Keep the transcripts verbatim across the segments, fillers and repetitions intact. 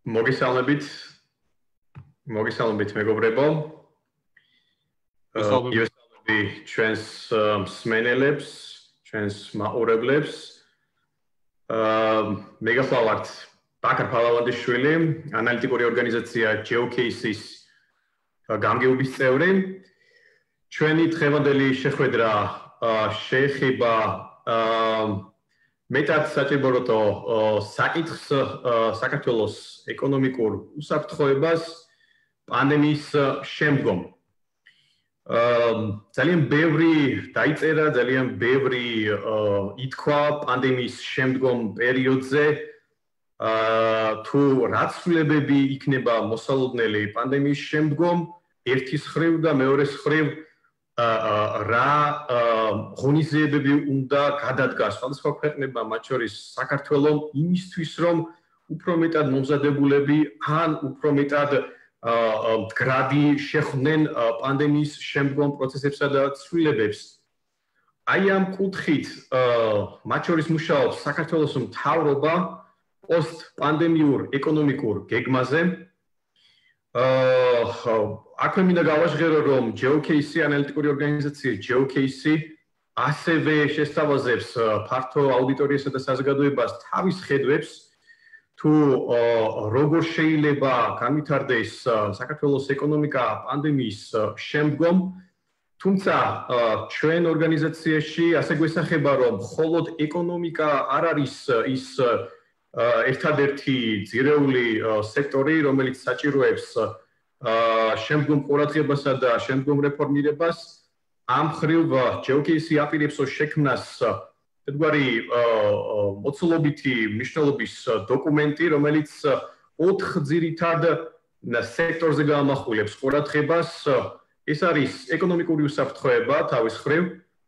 მოგესალმებით. მოგესალმებით მეგობრებო. მოგესალმები ჩვენს მსმენელებს, ჩვენს მაყურებლებს. მე გახლავართ ბაქარ ფალავანდიშვილი, ანალიტიკური ორგანიზაცია Geocase-ის გამგეობის წევრი. ჩვენი დღევანდელი შეხვედრა შეეხება მეტად საჭიროთო საკითხს საქართველოს ეკონომიკურ უსაფრთხოებას პანდემიის შემდგომ. ძალიან ბევრი დაიწერა, ძალიან ბევრი ითქვა პანდემიის შემდგომ პერიოდზე. თუ რა ცვლილებები იქნება მოსალოდნელი პანდემიის შემდგომ, ერთის ხრივ და მეორეს ხრივ რა ღონისძიებები უნდა გადადგას სხვადასხვა ქვეყნებმა, მათ შორის საქართველომ იმისთვის, რომ უფრო მეტად მომზადებულები ან უფრო მეტად მდგრადი შეხვდნენ პანდემიის შემდგომ პროცესებსა და ცვლილებებს. აი ამ კუთხით მათ შორის მუშაობს საქართველოს მთავრობა პოსტ-პანდემიურ ეკონომიკურ გეგმაზე. აქვე მინდა გავაჟღერო, რომ Geocase ანალიტიკური ორგანიზაცია Geocase ასევე შესთავაზებს ფართო აუდიტორიასა და საზოგადოებას თავის ხედვებს, თუ როგორ შეიძლება განვითარდეს საქართველოს ეკონომიკა პანდემიის შემდგომ. თუმცა ჩვენ ორგანიზაციაში ასე გვესახება, რომ მხოლოდ ეკონომიკა არ არის ის ერთადერთი ძირეული სექტორი, რომელიც საჭიროებს შემდგომ ყურადღებასა და შემდგომ რეფორმირებას. ამ მხრივ Geocase აპირებს შექმნას ერთგვარი მოცულობითი მნიშვნელობის დოკუმენტი, რომელიც ოთხ ძირითად სექტორზე გაამახვილებს ყურადღებას. ეს არის ეკონომიკური უსაფრთხოება თავის მხრივ,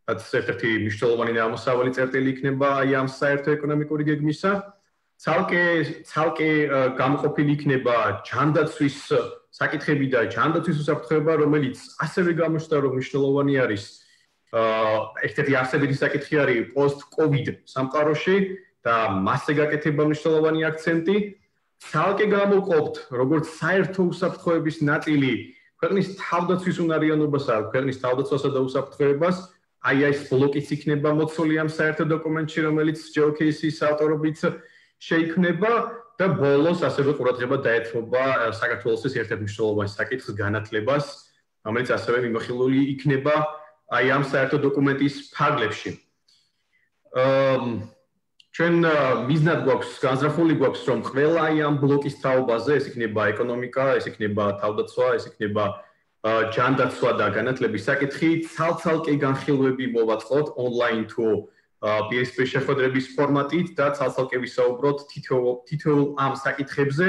რაც ერთ-ერთი მნიშვნელოვანი და ამოსავალი წერტილი იქნება აი ამ საერთო ეკონომიკური გეგმისა. ცალკე ცალკე გამოყოფილი იქნება ჯანდაცვის საკითხები და ჯანდაცვის უსაფრთხოება, რომელიც ასევე გამოჩნდა, რომ მნიშვნელოვანი არის. ერთ-ერთი არსებითი საკითხი არის post-COVID სამყაროში და მასზე გაკეთება მნიშვნელოვანი აქცენტი. ცალკე გამოვყოფთ, როგორც საერთო უსაფრთხოების ნაწილი ქვეყნის თავდაცვის უნარიანობასა, ქვეყნის თავდაცვასა და უსაფრთხოებას. აი ეს ბლოკიც იქნება მოცული ამ საერთო დოკუმენტში, რომელიც Geocase-ის ავტორობით შეიქმნება და ბოლოს ასევე ყურადღება დაეთმობა საქართველოს ერთ-ერთ მნიშვნელოვან საკითხს განათლებას, რომელიც ასევე მიმოხილული იქნება აი ამ საერთო დოკუმენტის ფარგლებში. ჩვენ მიზნად გვაქვს, განზრახული გვაქვს, რომ ყველა აი ამ ბლოკის თაობაზე, ეს იქნება ეკონომიკა, ეს იქნება თავდაცვა, ეს იქნება ჯანდაცვა და განათლების საკითხი, ცალ-ცალკე განხილვები მოვაწყოთ ონლაინ თუ პირისპირ შეხვედრების ფორმატით და ცალ-ცალკე ვისაუბროთ თითოეულ ამ საკითხებზე,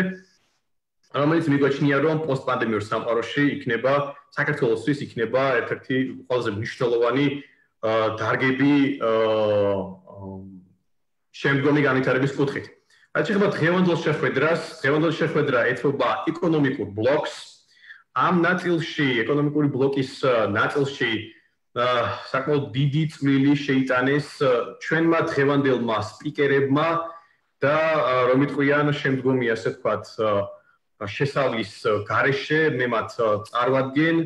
რომელიც მიგვაჩნია, რომ პოსტპანდემიურ სამყაროში იქნება საქართველოსთვის იქნება ერთ-ერთი ყველაზე მნიშვნელოვანი დარგები შემდგომი განვითარების კუთხით. რაც შეეხება დღევანდელ შეხვედრას, დღევანდელ შეხვედრა ეთმობა ეკონომიკურ ბლოკს. ამ ნაწილში, ეკონომიკური ბლოკის ნაწილში საკმაოდ დიდი წვლილი შეიტანეს ჩვენმა დღევანდელმა სპიკერებმა და რომ იტყვიან შემდგომი ასე ვთქვათ შესავლის გარეშე მე მათ წარვადგენ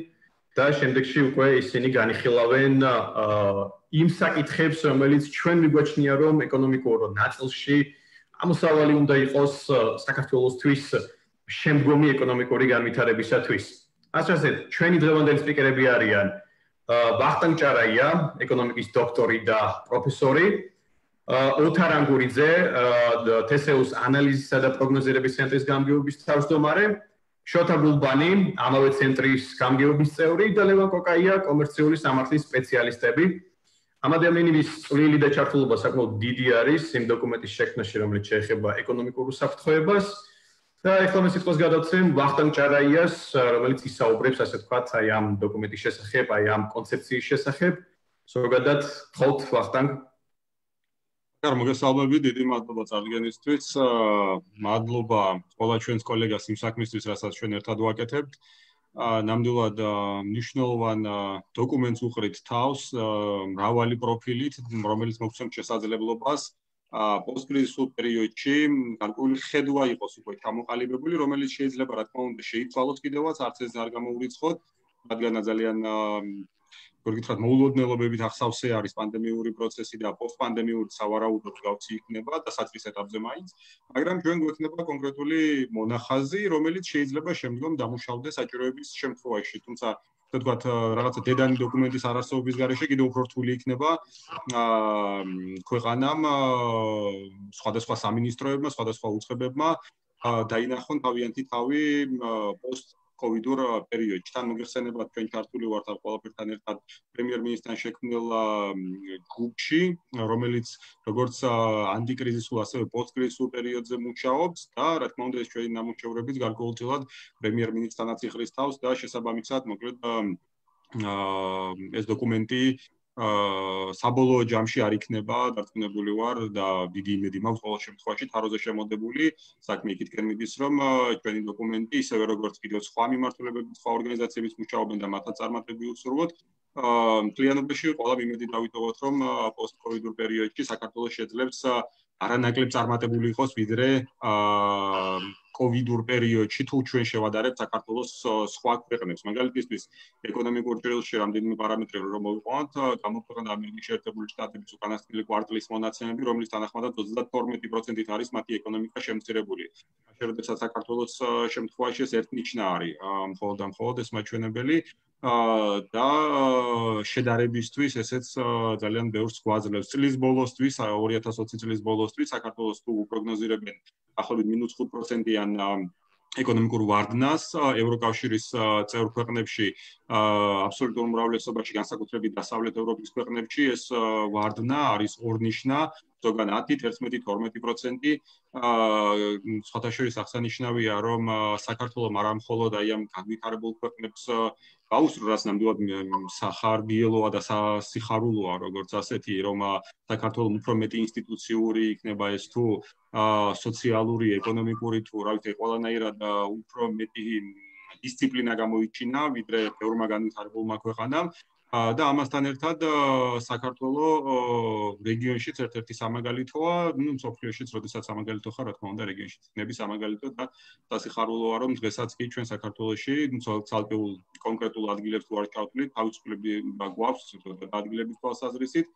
და შემდეგში უკვე ისინი განიხილავენ იმ საკითხებს, რომელიც ჩვენ მიგვაჩნია, რომ ეკონომიკურ ნაწილში ამოსავალი უნდა იყოს საქართველოსთვის შემდგომი ეკონომიკური განვითარებისათვის. ასე ჩვენი დღევანდელი სპიკერები არიან ვახტანგ ჭარაია, ეკონომიკის დოქტორი და პროფესორი, ოთარ ანგურიძე, თესეუს ანალიზისა და პროგნოზირების ცენტრის გამგეობის თავმჯდომარე, შოთა გულბანი, ამავე ცენტრის გამგეობის წევრი და ლევან კოკაია, კომერციული სამართლის სპეციალისტები. ამ ადამიანების წვლილი და ჩართულობა საკმაოდ დიდი არის იმ დოკუმენტის შექმნაში, რომელიც შეეხება ეკონომიკურ უსაფრთხოებას. და ეხლა მე სიტყვას გადავცემ ვახტანგ ჭარაიას, რომელიც ისაუბრებს, ასე ვთქვათ, აი ამ დოკუმენტის შესახებ, აი ამ კონცეფციის შესახებ. ზოგადად, ხოთ ვახტანგ. კარგი, მოგესალმებით, დიდი მადლობა წარდგენისთვის. მადლობა ყველა ჩვენს კოლეგას იმ საქმისთვის, რასაც ჩვენ ერთად ვაკეთებთ. ნამდვილად მნიშვნელოვან დოკუმენტს უყრით თავს, მრავალი პროფილით, რომელიც მოგცემთ შესაძლებლობას პოსტკრიზისულ პერიოდში გარკვეული ხედვა იყოს უკვე ჩამოყალიბებული, რომელიც შეიძლება რა თქმა უნდა შეიცვალოს კიდევაც, არც ეს არ გამოურიცხოთ, რადგან ძალიან გორგითხრათ მოულოდნელობებით ახსავსე არის პანდემიური პროცესი და პოსტპანდემიური სავარაუდოდ გავცი იქნება და საწყის ეტაპზე მაინც, მაგრამ ჩვენ გვექნება კონკრეტული მონახაზი, რომელიც შეიძლება შემდგომ დამუშავდეს საჭიროების შემთხვევაში, თუმცა ასე ვთქვათ, რაღაცა დედანი დოკუმენტის არარსებობის გარეშე კიდევ უფრო რთული იქნება ქვეყანამ სხვადასხვა სამინისტროებმა, სხვადასხვა უწყებებმა დაინახონ თავიანთი თავი პოსტ კოვიდურ პერიოდში. თან მოგეხსენებათ, ჩვენ ჩართული ვართ ამ ყველაფერთან ერთად პრემიერ-მინისტრთან შექმნილ ჯგუფში, რომელიც როგორც ანტიკრიზისულ, ასევე პოსტკრიზისულ პერიოდზე მუშაობს და რა თქმა უნდა, ეს ჩვენი ნამუშევრებიც გარკვეულწილად პრემიერ-მინისტრთანაც იხრის თავს და შესაბამისად, მოკლედ ეს დოკუმენტი საბოლოო ჯამში არ იქნება დარწმუნებული ვარ და დიდი იმედი მაქვს ყოველ შემთხვევაში თაროზე შემოდებული საქმე იქითკენ მიდის რომ ჩვენი დოკუმენტი ისევე როგორც კიდევ სხვა მიმართულებების სხვა ორგანიზაციების მუშაობენ და მათაც წარმატები უსურვოთ მთლიანობაში ყველა იმედი დავიტოვოთ რომ პოსტკოვიდურ პერიოდში საქართველოს შეძლებს არანაკლებ წარმატებული იყოს ვიდრე კოვიდურ პერიოდში თუ ჩვენ შევადარებთ საქართველოს სხვა ქვეყნებს მაგალითისთვის ეკონომიკურ ჭრილში რამდენიმე პარამეტრი რომ მოვიყვანოთ გამოქვეყნდა ამერიკის შეერთებული შტატების უკანასკნელი კვარტლის მონაცემები რომლის თანახმადაც ოცდათორმეტი პროცენტით არის მათი ეკონომიკა შემცირებული შესაძლოა საქართველოს შემთხვევაში ეს ერთნიშნა არის მხოლოდ და მხოლოდ ეს მაჩვენებელი და შედარებისთვის ესეც ძალიან ბევრს გვაძლევს წლის ბოლოსთვის ორი ათას ოცი წლის ბოლოსთვის საქართველოს თუ პროგნოზირებენ ახლობით მინუს ხუთ პროცენტიან ეკონომიკურ ვარდნას ევროკავშირის წევრ ქვეყნებში აბსოლუტურ უმრავლესობაში განსაკუთრებით დასავლეთ ევროპის ქვეყნებში ეს ვარდნა არის ორნიშნა ზოგან ათი, თერთმეტი, თორმეტი პროცენტი სხვათა შორის აღსანიშნავია რომ საქართველოს არა მხოლოდ აი ამ განვითარებულ ქვეყნებს გაუსწრებს ნამდვილად სახარბიელოა და სიხარულოა როგორც ასეთი რომ საქართველოს უფრო მეტი ინსტიტუციური იქნება ეს თუ სოციალური, ეკონომიკური თუ რა ვიცი ყველანაირად უფრო მეტი დისციპლინა გამოიჩინა ვიდრე ბევრმა განვითარებულმა ქვეყანამ და ამასთან ერთად საქართველოს რეგიონშიც ერთ-ერთი სამაგალითოა, ну, მსოფლიოშიც, როდესაც სამაგალითო ხარ, რა თქმა უნდა, რეგიონშიც იქნები სამაგალითო და სასიხარულოა, რომ დღესაც კი ჩვენ საქართველოში ცალკეულ კონკრეტულ ადგილებს თუ არ ჩავთვლით, თავისუფლები გვაქვს ადგილების თვალსაზრისით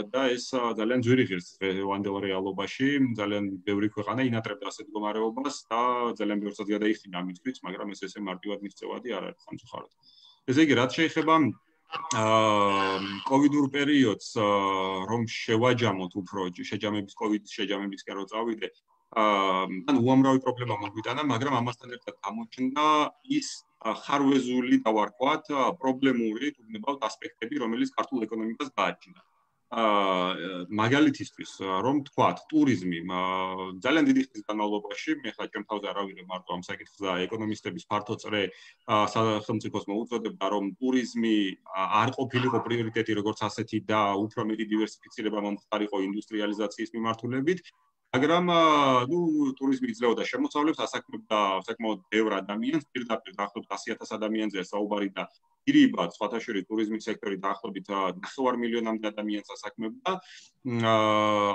და ეს ძალიან ძვირი ღირს დღევანდელ რეალობაში, ძალიან ბევრი ქვეყანა ინატრებდა ასეთ მდგომარეობას და ძალიან ბევრსაც გადაიხდინა ამისთვის, მაგრამ ეს ესე მარტივად მიღწევადი არ არის სამწუხაროდ. ესე იგი, რაც შეეხება კოვიდურ პერიოდს, რომ შევაჯამოთ უფრო შეჯამების კოვიდის შეჯამებისკენ რო წავიდე, ან უამრავი პრობლემა მოგვიტანა, მაგრამ ამასთან ერთად გამოჩნდა ის ხარვეზული და ვარქვათ პრობლემური თუნდაც ასპექტები, რომელიც ქართულ ეკონომიკას გააჩნდა. მაგალითისთვის რომ თქვათ ტურიზმი ძალიან დიდი ხნის განმავლობაში მე ხა ჩემ თავზე არავირე მარტო ამ საკითხს და ეკონომისტების ფართო წრე სახელმწიფოს მოუწოდებდა რომ ტურიზმი არ ყოფილიყო პრიორიტეტი როგორც ასეთი და უფრო მეტი დივერსიფიცირება მომხდარიყო ინდუსტრიალიზაციის მიმართულებით მაგრამ ნუ ტურიზმი იძლეოდა შემოსავლებს ასაქმებდა საკმაოდ ბევრ ადამიანს პირდაპირ დაახლოებით ასი ათას ადამიანზე საუბარი და ირიბად სხვათა შორის ტურიზმის სექტორი დაახლოებით ნახევარ მილიონამდე ადამიანს ასაქმებდა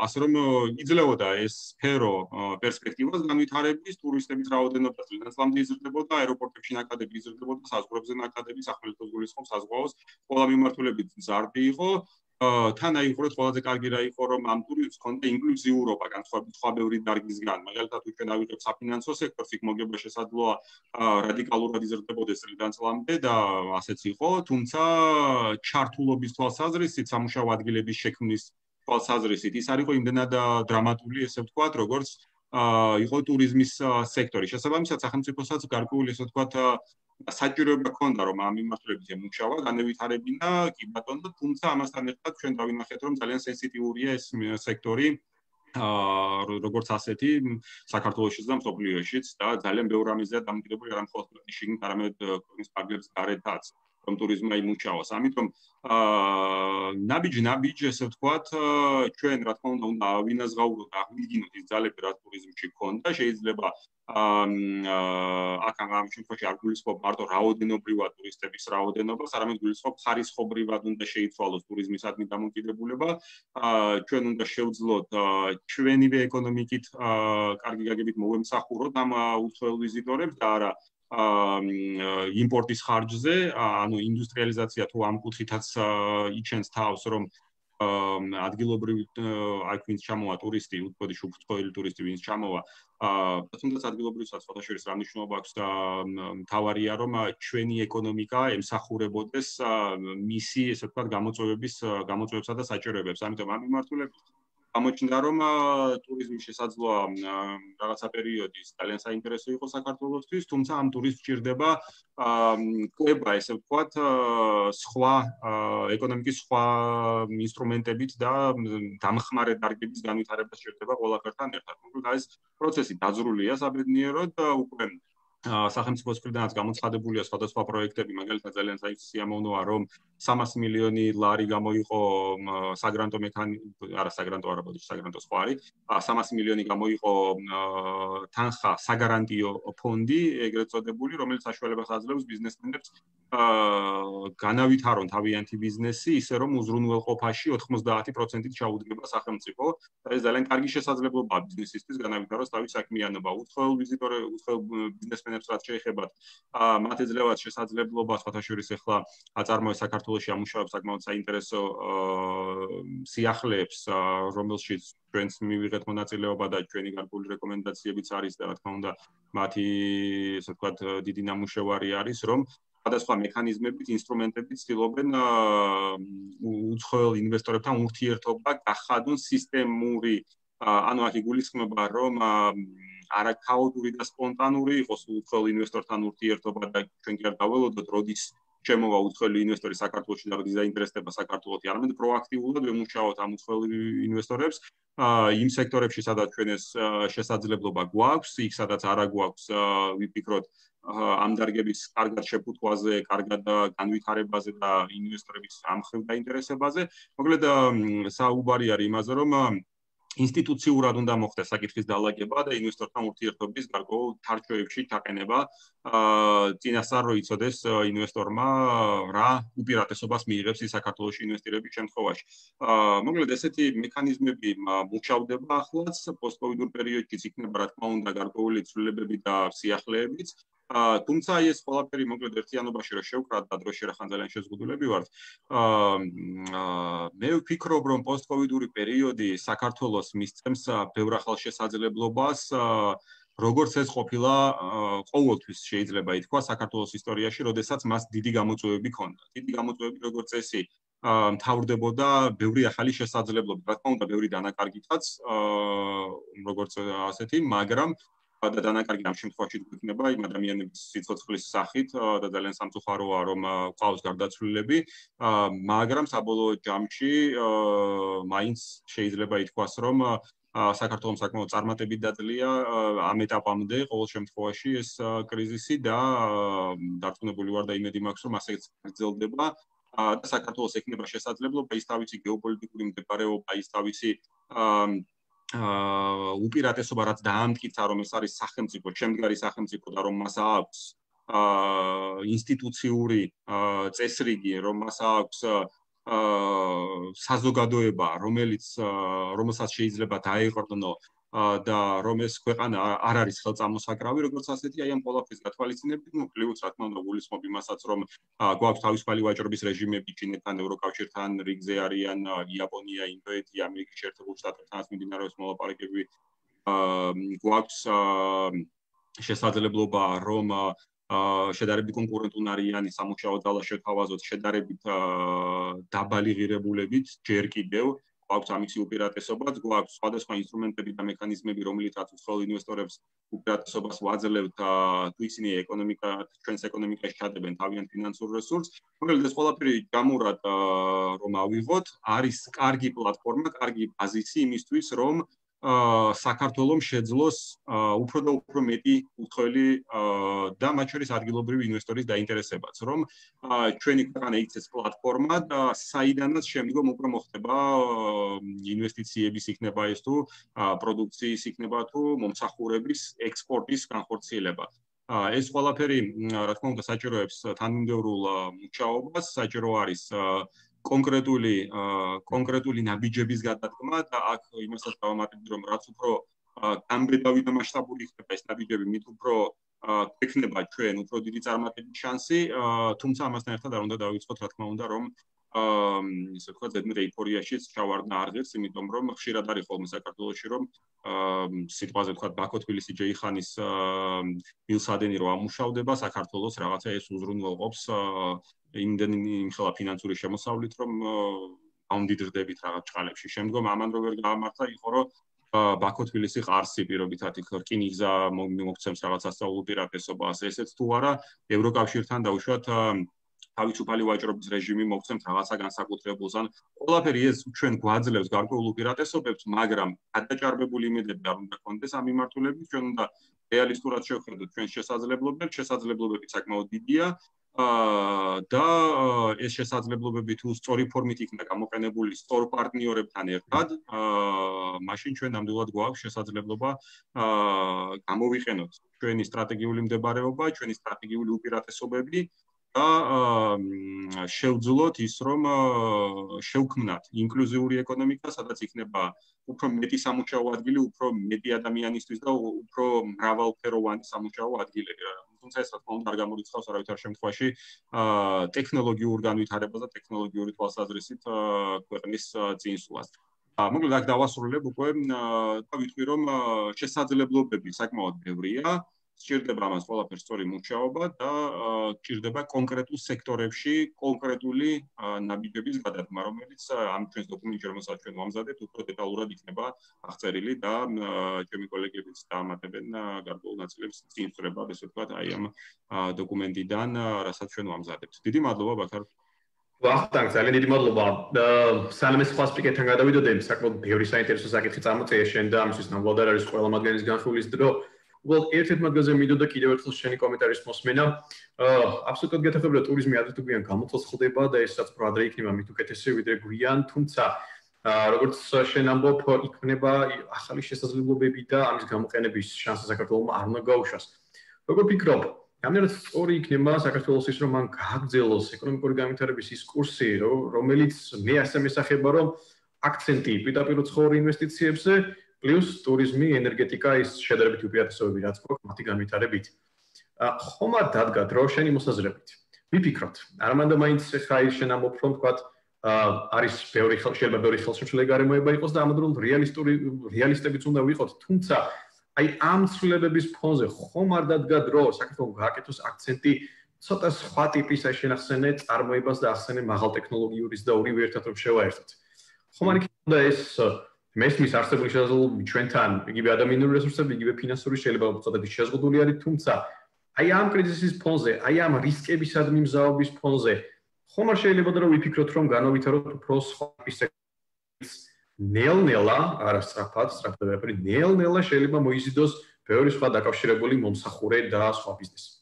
ასე რომ იძლეოდა ეს სფერო პერსპექტივას განვითარების ტურისტების რაოდენობა წლიდან-წლამდე იზრდებოდა აეროპორტებში ნაკადები იზრდებოდა საზღვრებზე ნაკადები სახელმწიფოს გულისხმობს საზღვაოს ყველა მიმართულებით ზარდი იყო თან აიხურეთ ყველაზე კარგი რა იყო რომ ამ ტურიზმს ჰქონდა ინკლუზიურობა განსხვავებით სხვა ბევრი დარგისგან მაგალითად ჩვენ ავიღებ საფინანსო სექტორს იქ მოგება შესაძლოა რადიკალურად იზრდებოდეს წლიდან-წლამდე და ასეც იყო თუმცა ჩართულობის თვალსაზრისით სამუშაო ადგილების შექმნის თვალსაზრისით ის არ იყო იმდენად დრამატული ესე ვთქვათ როგორც იყო ტურიზმის სექტორი შესაბამისად სახელმწიფოსაც გარკვეული ესე ვთქვათ საჭიროება ჰქონდა რომ ამ მიმართულებით ემუშავა, განევითარებინა, კი ბატონო, თუმცა ამასთან ერთად ჩვენ დავინახეთ რომ ძალიან სენსიტიურია ეს სექტორი როგორც ასეთი საქართველოშიც და მსოფლიოშიც და ძალიან ბევრ ამიზეა დამოკიდებული არა მხოლოდ შიგნით, არამედ ქვეყნის ფარგლებს გარეთაც. რომ ტურიზმმა იმუშაოს. ამიტომ ნაბიჯ-ნაბიჯ ესე ვთქვათ, ჩვენ რა თქმა უნდა უნდა ავინაზღაუროთ, აღვიდგინოთ ის ძალები, რაც ტურიზმში ქონდა, შეიძლება აქ ამ შემთხვევაში არ გულისხმობ მარტო რაოდენობრივად ტურისტების რაოდენობას, არამედ გულისხმობ ხარისხობრივად უნდა შეიცვალოს ტურიზმისადმი დამოკიდებულება. ჩვენ უნდა შევძლოთ ჩვენივე ეკონომიკით კარგი გაგებით მოვემსახუროთ ამ უცხოელ ვიზიტორებს და არა იმპორტის ხარჯზე, ანუ ინდუსტრიალიზაცია თუ ამ კუთხითაც იჩენს თავს, რომ ადგილობრივი აი ვინც ჩამოვა ტურისტი, უცხოელი უცხოელი ტურისტი ვინც ჩამოვა, თუნდაც ადგილობრივსაც ფოტოშორის რა მნიშვნელობა აქვს და მთავარია რომ ჩვენი ეკონომიკა ემსახურებოდეს მისი, ესე ვთქვათ, გამოწვევების გამოწვევებსა და საჭიროებებს. ამიტომ ამ მიმართულებით გამოჩნდა რომ ტურიზმი შესაძლოა რაღაცა პერიოდის ძალიან საინტერესო იყოს საქართველოსთვის, თუმცა ამ ტურიზმს სჭირდება კვება, ესე ვთქვათ, სხვა ეკონომიკის სხვა ინსტრუმენტებით და დამხმარე დარგების განვითარება სჭირდება ყველაფერთან ერთად. მოკლედ ეს პროცესი დაძრულია საბედნიეროდ უკვე სახელმწიფოს მხრიდანაც გამოცხადებულია სხვადასხვა პროექტები, მაგალითად ძალიან სიამოვნოა რომ სამას მილიონი ლარი გამოიყო საგრანტო მექანიზმი, არა საგრანტო არა, ბოდიში საგრანტო სხვა არის, სამას მილიონი გამოიყო თანხა საგარანტიო ფონდი, ეგრეთ წოდებული, რომელიც საშუალებას აძლევს ბიზნესმენებს განავითარონ თავიანთი ბიზნესი, ისე რომ უზრუნველყოფაში ოთხმოცდაათი პროცენტით ჩაუდგება სახელმწიფო. ეს ძალიან კარგი შესაძლებლობაა ბიზნესისთვის განავითაროს თავის საქმიანობა. უცხოელ ვიზიტორებს, უცხოელ ბიზნესმენებს რაც შეეხებათ, მათ ეძლევათ შესაძლებლობა სხვათაშორის ახლა აწარმოეს საქართველოში ამუშავებს საკმაოდ საინტერესო სიახლეებს, რომელშიც ჩვენც მივიღეთ მონაწილეობა და ჩვენი გარკვეული რეკომენდაციებიც არის და რა თქმა უნდა მათი, ესე ვთქვათ, დიდი ნამუშევარი არის, რომ სხვადასხვა მექანიზმებით, ინსტრუმენტებით ცდილობენ უცხოელ ინვესტორებთან ურთიერთობა გახადონ სისტემური, ანუ აქ იგულისხმება, რომ არა ქაოტური და სპონტანური იყოს უცხოელ ინვესტორთან ურთიერთობა და ჩვენ კი არ დაველოდოთ, როდის შემოვა უცხოელი ინვესტორი საქართველოში და როდის დაინტერესდება საქართველოში, არამედ პროაქტიულად ვემუშაოთ ამ უცხოელ ინვესტორებს იმ სექტორებში, სადაც ჩვენ ეს შესაძლებლობა გვაქვს, იქ სადაც არა გვაქვს, ვიფიქროთ ამ დარგების კარგად შეფუთვაზე, კარგად განვითარებაზე და ინვესტორების ამ მხრივ დაინტერესებაზე. მოკლედ საუბარი არის იმაზე, რომ ინსტიტუციურად უნდა მოხდეს საკითხის დალაგება და ინვესტორთან ურთიერთობის გარკვეულ თარჩოებში ჩაყენება, წინასწარ რო იცოდეს ინვესტორმა რა უპირატესობას მიიღებს ის საქართველოში ინვესტირების შემთხვევაში. მოკლედ ესეთი მექანიზმები მუშავდება ახლაც, პოსტკოვიდურ პერიოდშიც იქნება რა თქმა უნდა გარკვეული ცვლილებები და სიახლეებიც. თუმცა ეს ყველაფერი მოკლედ ერთიანობაში რო შევკრათ და დროში რახან ძალიან შეზღუდულები ვართ. მე ვფიქრობ, რომ პოსტკოვიდური პერიოდი საქართველოს მისცემს ბევრ ახალ შესაძლებლობას, როგორც ეს ყოფილა ყოველთვის შეიძლება ითქვა საქართველოს ისტორიაში, როდესაც მას დიდი გამოწვევები ჰქონდა. დიდი გამოწვევები როგორც წესი მთავრდებოდა ბევრი ახალი შესაძლებლობით. რა თქმა უნდა, ბევრი დანაკარგითაც, როგორც ასეთი, მაგრამ და დანაკარგი ამ შემთხვევაში გვექნება იმ ადამიანების სიცოცხლის სახით და ძალიან სამწუხაროა რომ ყავს გარდაცვლილები, მაგრამ საბოლოო ჯამში მაინც შეიძლება ითქვას რომ საქართველოს საკმაოდ წარმატებით დაძლია ამ ეტაპამდე ყოველ შემთხვევაში ეს კრიზისი და დარწმუნებული ვარ და იმედი მაქვს რომ ასეც გრძელდება და საქართველოს ექნება შესაძლებლობა ის თავისი გეოპოლიტიკური მდებარეობა, ის თავისი უპირატესობა რაც დაამტკიცა რომ ეს არის სახელმწიფო, შემდგარი სახელმწიფო და რომ მას აქვს ინსტიტუციური წესრიგი, რომ მას აქვს საზოგადოება, რომელიც რომელსაც შეიძლება დაეყრდნო და რომ ეს ქვეყანა არ არის ხელწამოსაკრავი, როგორც ასეთი, აი ამ ყველაფრის გათვალისწინებით, ну, პლუს რა თქმა უნდა, გულისხმობ იმასაც, რომ გვაქვს თავისუფალი ვაჭრობის რეჟიმები ჩინეთთან, ევროკავშირთან, რიგზე არიან იაპონია, ინდოეთი, ამერიკის შეერთებულ შტატებთანაც მიმდინარეობს მოლაპარაკებები. გვაქვს შესაძლებლობა, რომ შედარებით კონკურენტუნარიანი სამუშაო ძალა შევთავაზოთ შედარებით დაბალი ღირებულებით, ჯერ კიდევ გვაქვს ამისი უპირატესობაც, გვაქვს სხვადასხვა ინსტრუმენტები და მექანიზმები, რომლითაც უცხოელ ინვესტორებს უპირატესობას ვაძლევთ, თუ ისინი ეკონომიკა, ჩვენს ეკონომიკაში ჩადებენ თავიანთ ფინანსურ რესურსს. მოკლედ ეს ყველაფერი ჯამურად რომ ავიღოთ, არის კარგი პლატფორმა, კარგი ბაზისი იმისთვის, რომ საქართველოს შეძლოს უფრო და უფრო მეტი უცხოელი და მათ შორის ადგილობრივი ინვესტორის დაინტერესებაც, რომ ჩვენი ქვეყანა იქცეს პლატფორმად, საიდანაც შემდგომ უკვე მოხდება ინვესტიციების იქნება ეს თუ პროდუქციის იქნება თუ მომსახურების ექსპორტის განხორციელება. ეს ყველაფერი, რა თქმა უნდა, საჭიროებს თანმიმდევრულ მუშაობას, საჭირო არის კონკრეტული კონკრეტული ნაბიჯების გადადგმა და აქ იმასაც დავამატებთ, რომ რაც უფრო გამბედავი და მასშტაბური იქნება ეს ნაბიჯები, მით უფრო ექნება ჩვენ უფრო დიდი წარმატების შანსი, თუმცა ამასთან ერთად არ უნდა დავიწყოთ, რა თქმა უნდა, რომ ისე ვთქვათ, ზედმეტ ეიფორიაშიც ჩავარდნა არ ღირს, იმიტომ რომ ხშირად არის ხოლმე საქართველოში, რომ სიტყვაზე ვთქვათ, ბაქო-თბილისი-ჯეიხანის მილსადენი რო ამუშავდება, საქართველოს რაღაცა ეს უზრუნველყოფს იმდენი იმხელა ფინანსური შემოსავლით, რომ ამდიდრდებით რაღაც ჭყალებში. შემდგომ ამან რო ვერ გაამართა, იყო რომ ბაქო-თბილისი ყარსი პირობითად იქ რკინიგზა მოგცემს რაღაც სასწავლო უპირატესობას, ესეც თუ არა, ევროკავშირთან დაუშვათ თავისუფალი ვაჭრობის რეჟიმი მოგცემთ რაღაცა განსაკუთრებულს, ან ყველაფერი ეს ჩვენ გვაძლევს გარკვეულ უპირატესობებს, მაგრამ გადაჭარბებული იმედები არ უნდა გქონდეს ამ მიმართულებით, ჩვენ უნდა რეალისტურად შევხედოთ ჩვენს შესაძლებლობებს, შესაძლებლობები საკმაოდ დიდია და ეს შესაძლებლობები თუ სწორი ფორმით იქნება გამოყენებული სწორ პარტნიორებთან ერთად, მაშინ ჩვენ ნამდვილად გვაქვს შესაძლებლობა გამოვიყენოთ ჩვენი სტრატეგიული მდებარეობა, ჩვენი სტრატეგიული უპირატესობები და შევძლოთ ის, რომ შევქმნათ ინკლუზიური ეკონომიკა, სადაც იქნება უფრო მეტი სამუშაო ადგილი, უფრო მეტი ადამიანისთვის და უფრო მრავალფეროვანი სამუშაო ადგილები. თუმცა ეს რა თქმა უნდა არ გამორიცხავს არავითარ შემთხვევაში ტექნოლოგიურ განვითარებას და ტექნოლოგიური თვალსაზრისით ქვეყნის წინსვლას. მოკლედ აქ დავასრულებ უკვე და ვიტყვი, რომ შესაძლებლობები საკმაოდ ბევრია. სჭირდება ამას ყველაფერს სწორი მუშაობა და სჭირდება კონკრეტულ სექტორებში კონკრეტული ნაბიჯების გადადგმა, რომელიც ამ ჩვენს დოკუმენტში, რომელსაც ჩვენ ვამზადებთ, უფრო დეტალურად იქნება აღწერილი და ჩემი კოლეგებიც დაამატებენ გარკვეულ ნაწილებს წინსწრება, ესე ვთქვათ, აი ამ დოკუმენტიდან, რასაც ჩვენ ვამზადებთ. დიდი მადლობა, ბაქარ. ვახტანგ, ძალიან დიდი მადლობა. სანამ ეს სხვა სპიკერთან გადავიდოდე, საკმაოდ ბევრი საინტერესო საკითხი წამოწია შენ და ამისთვის ნამდვილად არ არის ყველა მათგანის განხილვის დრო. Well, ერთ-ერთ მათგანზე მიდოდა კიდევ ერთხელ შენი კომენტარის მოსმენა. აბსოლუტურად გეთახმება, რომ ტურიზმი ადრე თუ გვიან გამოცოცხლდება და ესაც უფრო ადრე იქნება მით უკეთესი ვიდრე გვიან, თუმცა როგორც შენ ამბობ, იქნება ახალი შესაძლებლობები და ამის გამოყენების შანსი საქართველოს არ უნდა გაუშვას. როგორ ფიქრობ, რამდენად სწორი იქნება საქართველოს ის, რომ მან გააგრძელოს ეკონომიკური განვითარების ის კურსი, რომელიც მე ასე მესახება, რომ აქცენტი პირდაპირ უცხოური ინვესტიციებზე პლუს ტურიზმი, ენერგეტიკა ის შედარებით უპირატესობები რაც გვაქვს მათი განვითარებით. ხომ არ დადგა დრო შენი მოსაზრებით? ვიფიქროთ, არა მანდა მაინც ხა ის შენ ამბობ, რომ თქვათ არის ბევრი შეიძლება ბევრი ხელშემშლელი გარემოება იყოს და ამავდროულად რეალისტური რეალისტებიც უნდა ვიყოთ, თუმცა აი ამ ცვლილებების ფონზე ხომ არ დადგა დრო საქართველოს გააკეთოს აქცენტი ცოტა სხვა ტიპის აი შენახსენე წარმოებას და ახსენე მაღალ ტექნოლოგიურის და ორივე ერთად რომ შევაერთოთ. ხომ არ იქნება ეს მესმის არსებული შესაძლებლობები ჩვენთან, იგივე ადამიანური რესურსები, იგივე ფინანსური შეიძლება უწოდები შეზღუდული არის, თუმცა აი ამ კრიზისის ფონზე, აი ამ რისკებისადმი მზაობის ფონზე, ხომ არ შეიძლება რომ ვიფიქროთ, რომ განავითაროთ უფრო სხვა სექტორის ნელ-ნელა, არა სწრაფად, სწრაფად ვეფერი, ნელ-ნელა შეიძლება მოიზიდოს ბევრი სხვა დაკავშირებული მომსახურე და სხვა ბიზნესი.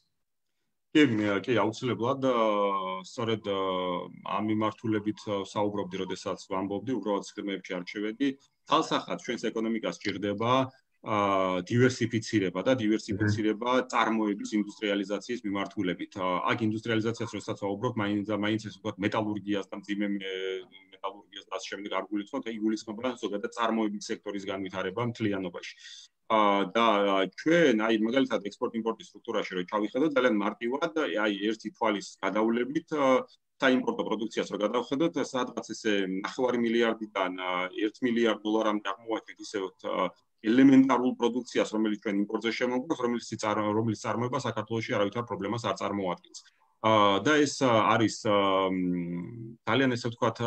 კი, კი, აუცილებლად სწორედ ამ მიმართულებით საუბრობდი, როდესაც ვამბობდი, უბრალოდ სქემებში არ შევედი. თალსახად ჩვენს ეკონომიკას სჭირდება დივერსიფიცირება და დივერსიფიცირება წარმოების ინდუსტრიალიზაციის მიმართულებით. აქ ინდუსტრიალიზაციას როდესაც ვაუბრობ, მაინც და მაინც ეს ვთქვათ მეტალურგიას და მძიმე მეტალურგიას და ამ შემდეგ არ გულისხმობ, აი გულისხმობა ზოგადად წარმოების სექტორის განვითარება მთლიანობაში. და ჩვენ აი მაგალითად ექსპორტ-იმპორტის სტრუქტურაში რო ჩავიხედოთ, ძალიან მარტივად აი ერთი თვალის გადავლებით საიმპორტო პროდუქციას რო გადავხედოთ, სადღაც ესე ნახევარი მილიარდიდან ერთ მილიარდ დოლარამდე აღმოვაჩენთ ისე ელემენტარულ პროდუქციას, რომელიც ჩვენ იმპორტზე შემოგვაქვს, რომელიც რომელიც წარმოება საქართველოში არავითარ პრობლემას არ წარმოადგენს. და ეს არის ძალიან ესე ვთქვათ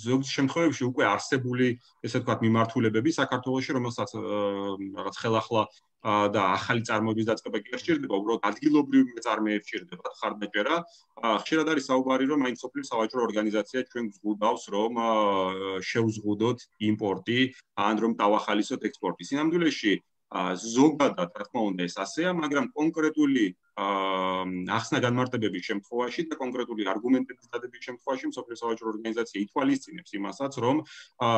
ზოგიერთ შემთხვევებში უკვე არსებული ესე ვთქვათ მიმართულებები საქართველოში, რომელსაც რაღაც ხელახლა და ახალი წარმოების დაწყება კი არ სჭირდება, უბრალოდ ადგილობრივი მეწარმეებს სჭირდება ხარდაჭერა. ხშირად არის საუბარი, რომ აი სოფლის სავაჭრო ორგანიზაცია ჩვენ გვგულდავს, რომ შევზღუდოთ იმპორტი, ან რომ დავახალისოთ ექსპორტი. სინამდვილეში ზოგადად, რა თქმა უნდა, ეს ასეა, მაგრამ კონკრეტული ახსნა განმარტებების შემთხვევაში და კონკრეტული არგუმენტების დადების შემთხვევაში მსოფლიო სავაჭრო ორგანიზაცია ითვალისწინებს იმასაც, რომ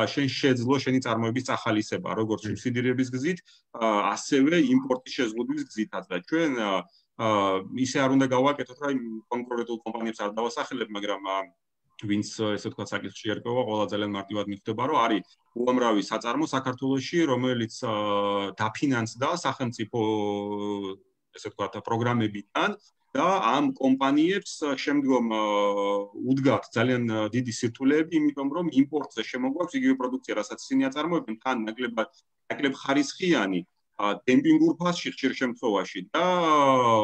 შენ შეძლო შენი წარმოების წახალისება, როგორც სუბსიდირების გზით, ასევე იმპორტის შეზღუდვის გზითაც და ჩვენ ისე არ უნდა გავაკეთოთ, რომ კონკრეტულ კომპანიებს არ დავასახელებ, მაგრამ ვინც ესე ვთქვათ საკითხში ერკვევა, ყველა ძალიან მარტივად მიხვდება, რომ არის უამრავი საწარმო საქართველოში, რომელიც დაფინანსდა სახელმწიფო ესე ვთქვათ პროგრამებიდან და ამ კომპანიებს შემდგომ უდგათ ძალიან დიდი სირთულეები, იმიტომ რომ იმპორტზე შემოგვაქვს იგივე პროდუქცია, რასაც ისინი აწარმოებენ, თან ნაკლებად ნაკლებ ხარისხიანი დემპინგურ ფასში ხშირ შემთხვევაში და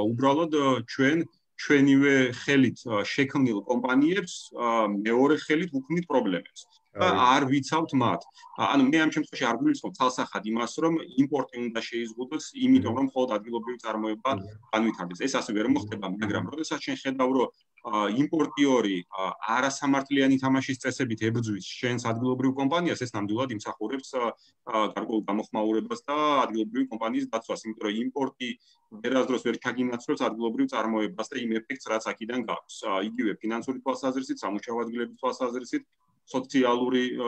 უბრალოდ ჩვენ ჩვენივე ხელით შექმნილ კომპანიებს მეორე ხელით უქმნით პრობლემებს და არ ვიცავთ მათ. ანუ მე ამ შემთხვევაში არ გულისხმობ თალსახად იმას, რომ იმპორტი უნდა შეიზღუდოს, იმიტომ რომ მხოლოდ ადგილობრივი წარმოება განვითარდეს. ეს ასე ვერ მოხდება, მაგრამ როდესაც შენ ხედავ, რომ იმპორტიორი არასამართლიანი თამაშის წესებით ებრძვის შენს ადგილობრივ კომპანიას, ეს ნამდვილად იმსახურებს გარკვეულ გამოხმაურებას და ადგილობრივი კომპანიის დაცვას, იმიტომ რომ იმპორტი ვერასდროს ვერ ჩაგინაცვლებს ადგილობრივ წარმოებას და იმ ეფექტს, რაც აქედან გაქვს. იგივე ფინანსური თვალსაზრისით, სამუშაო ადგილების თვალსაზრისით, სოციალური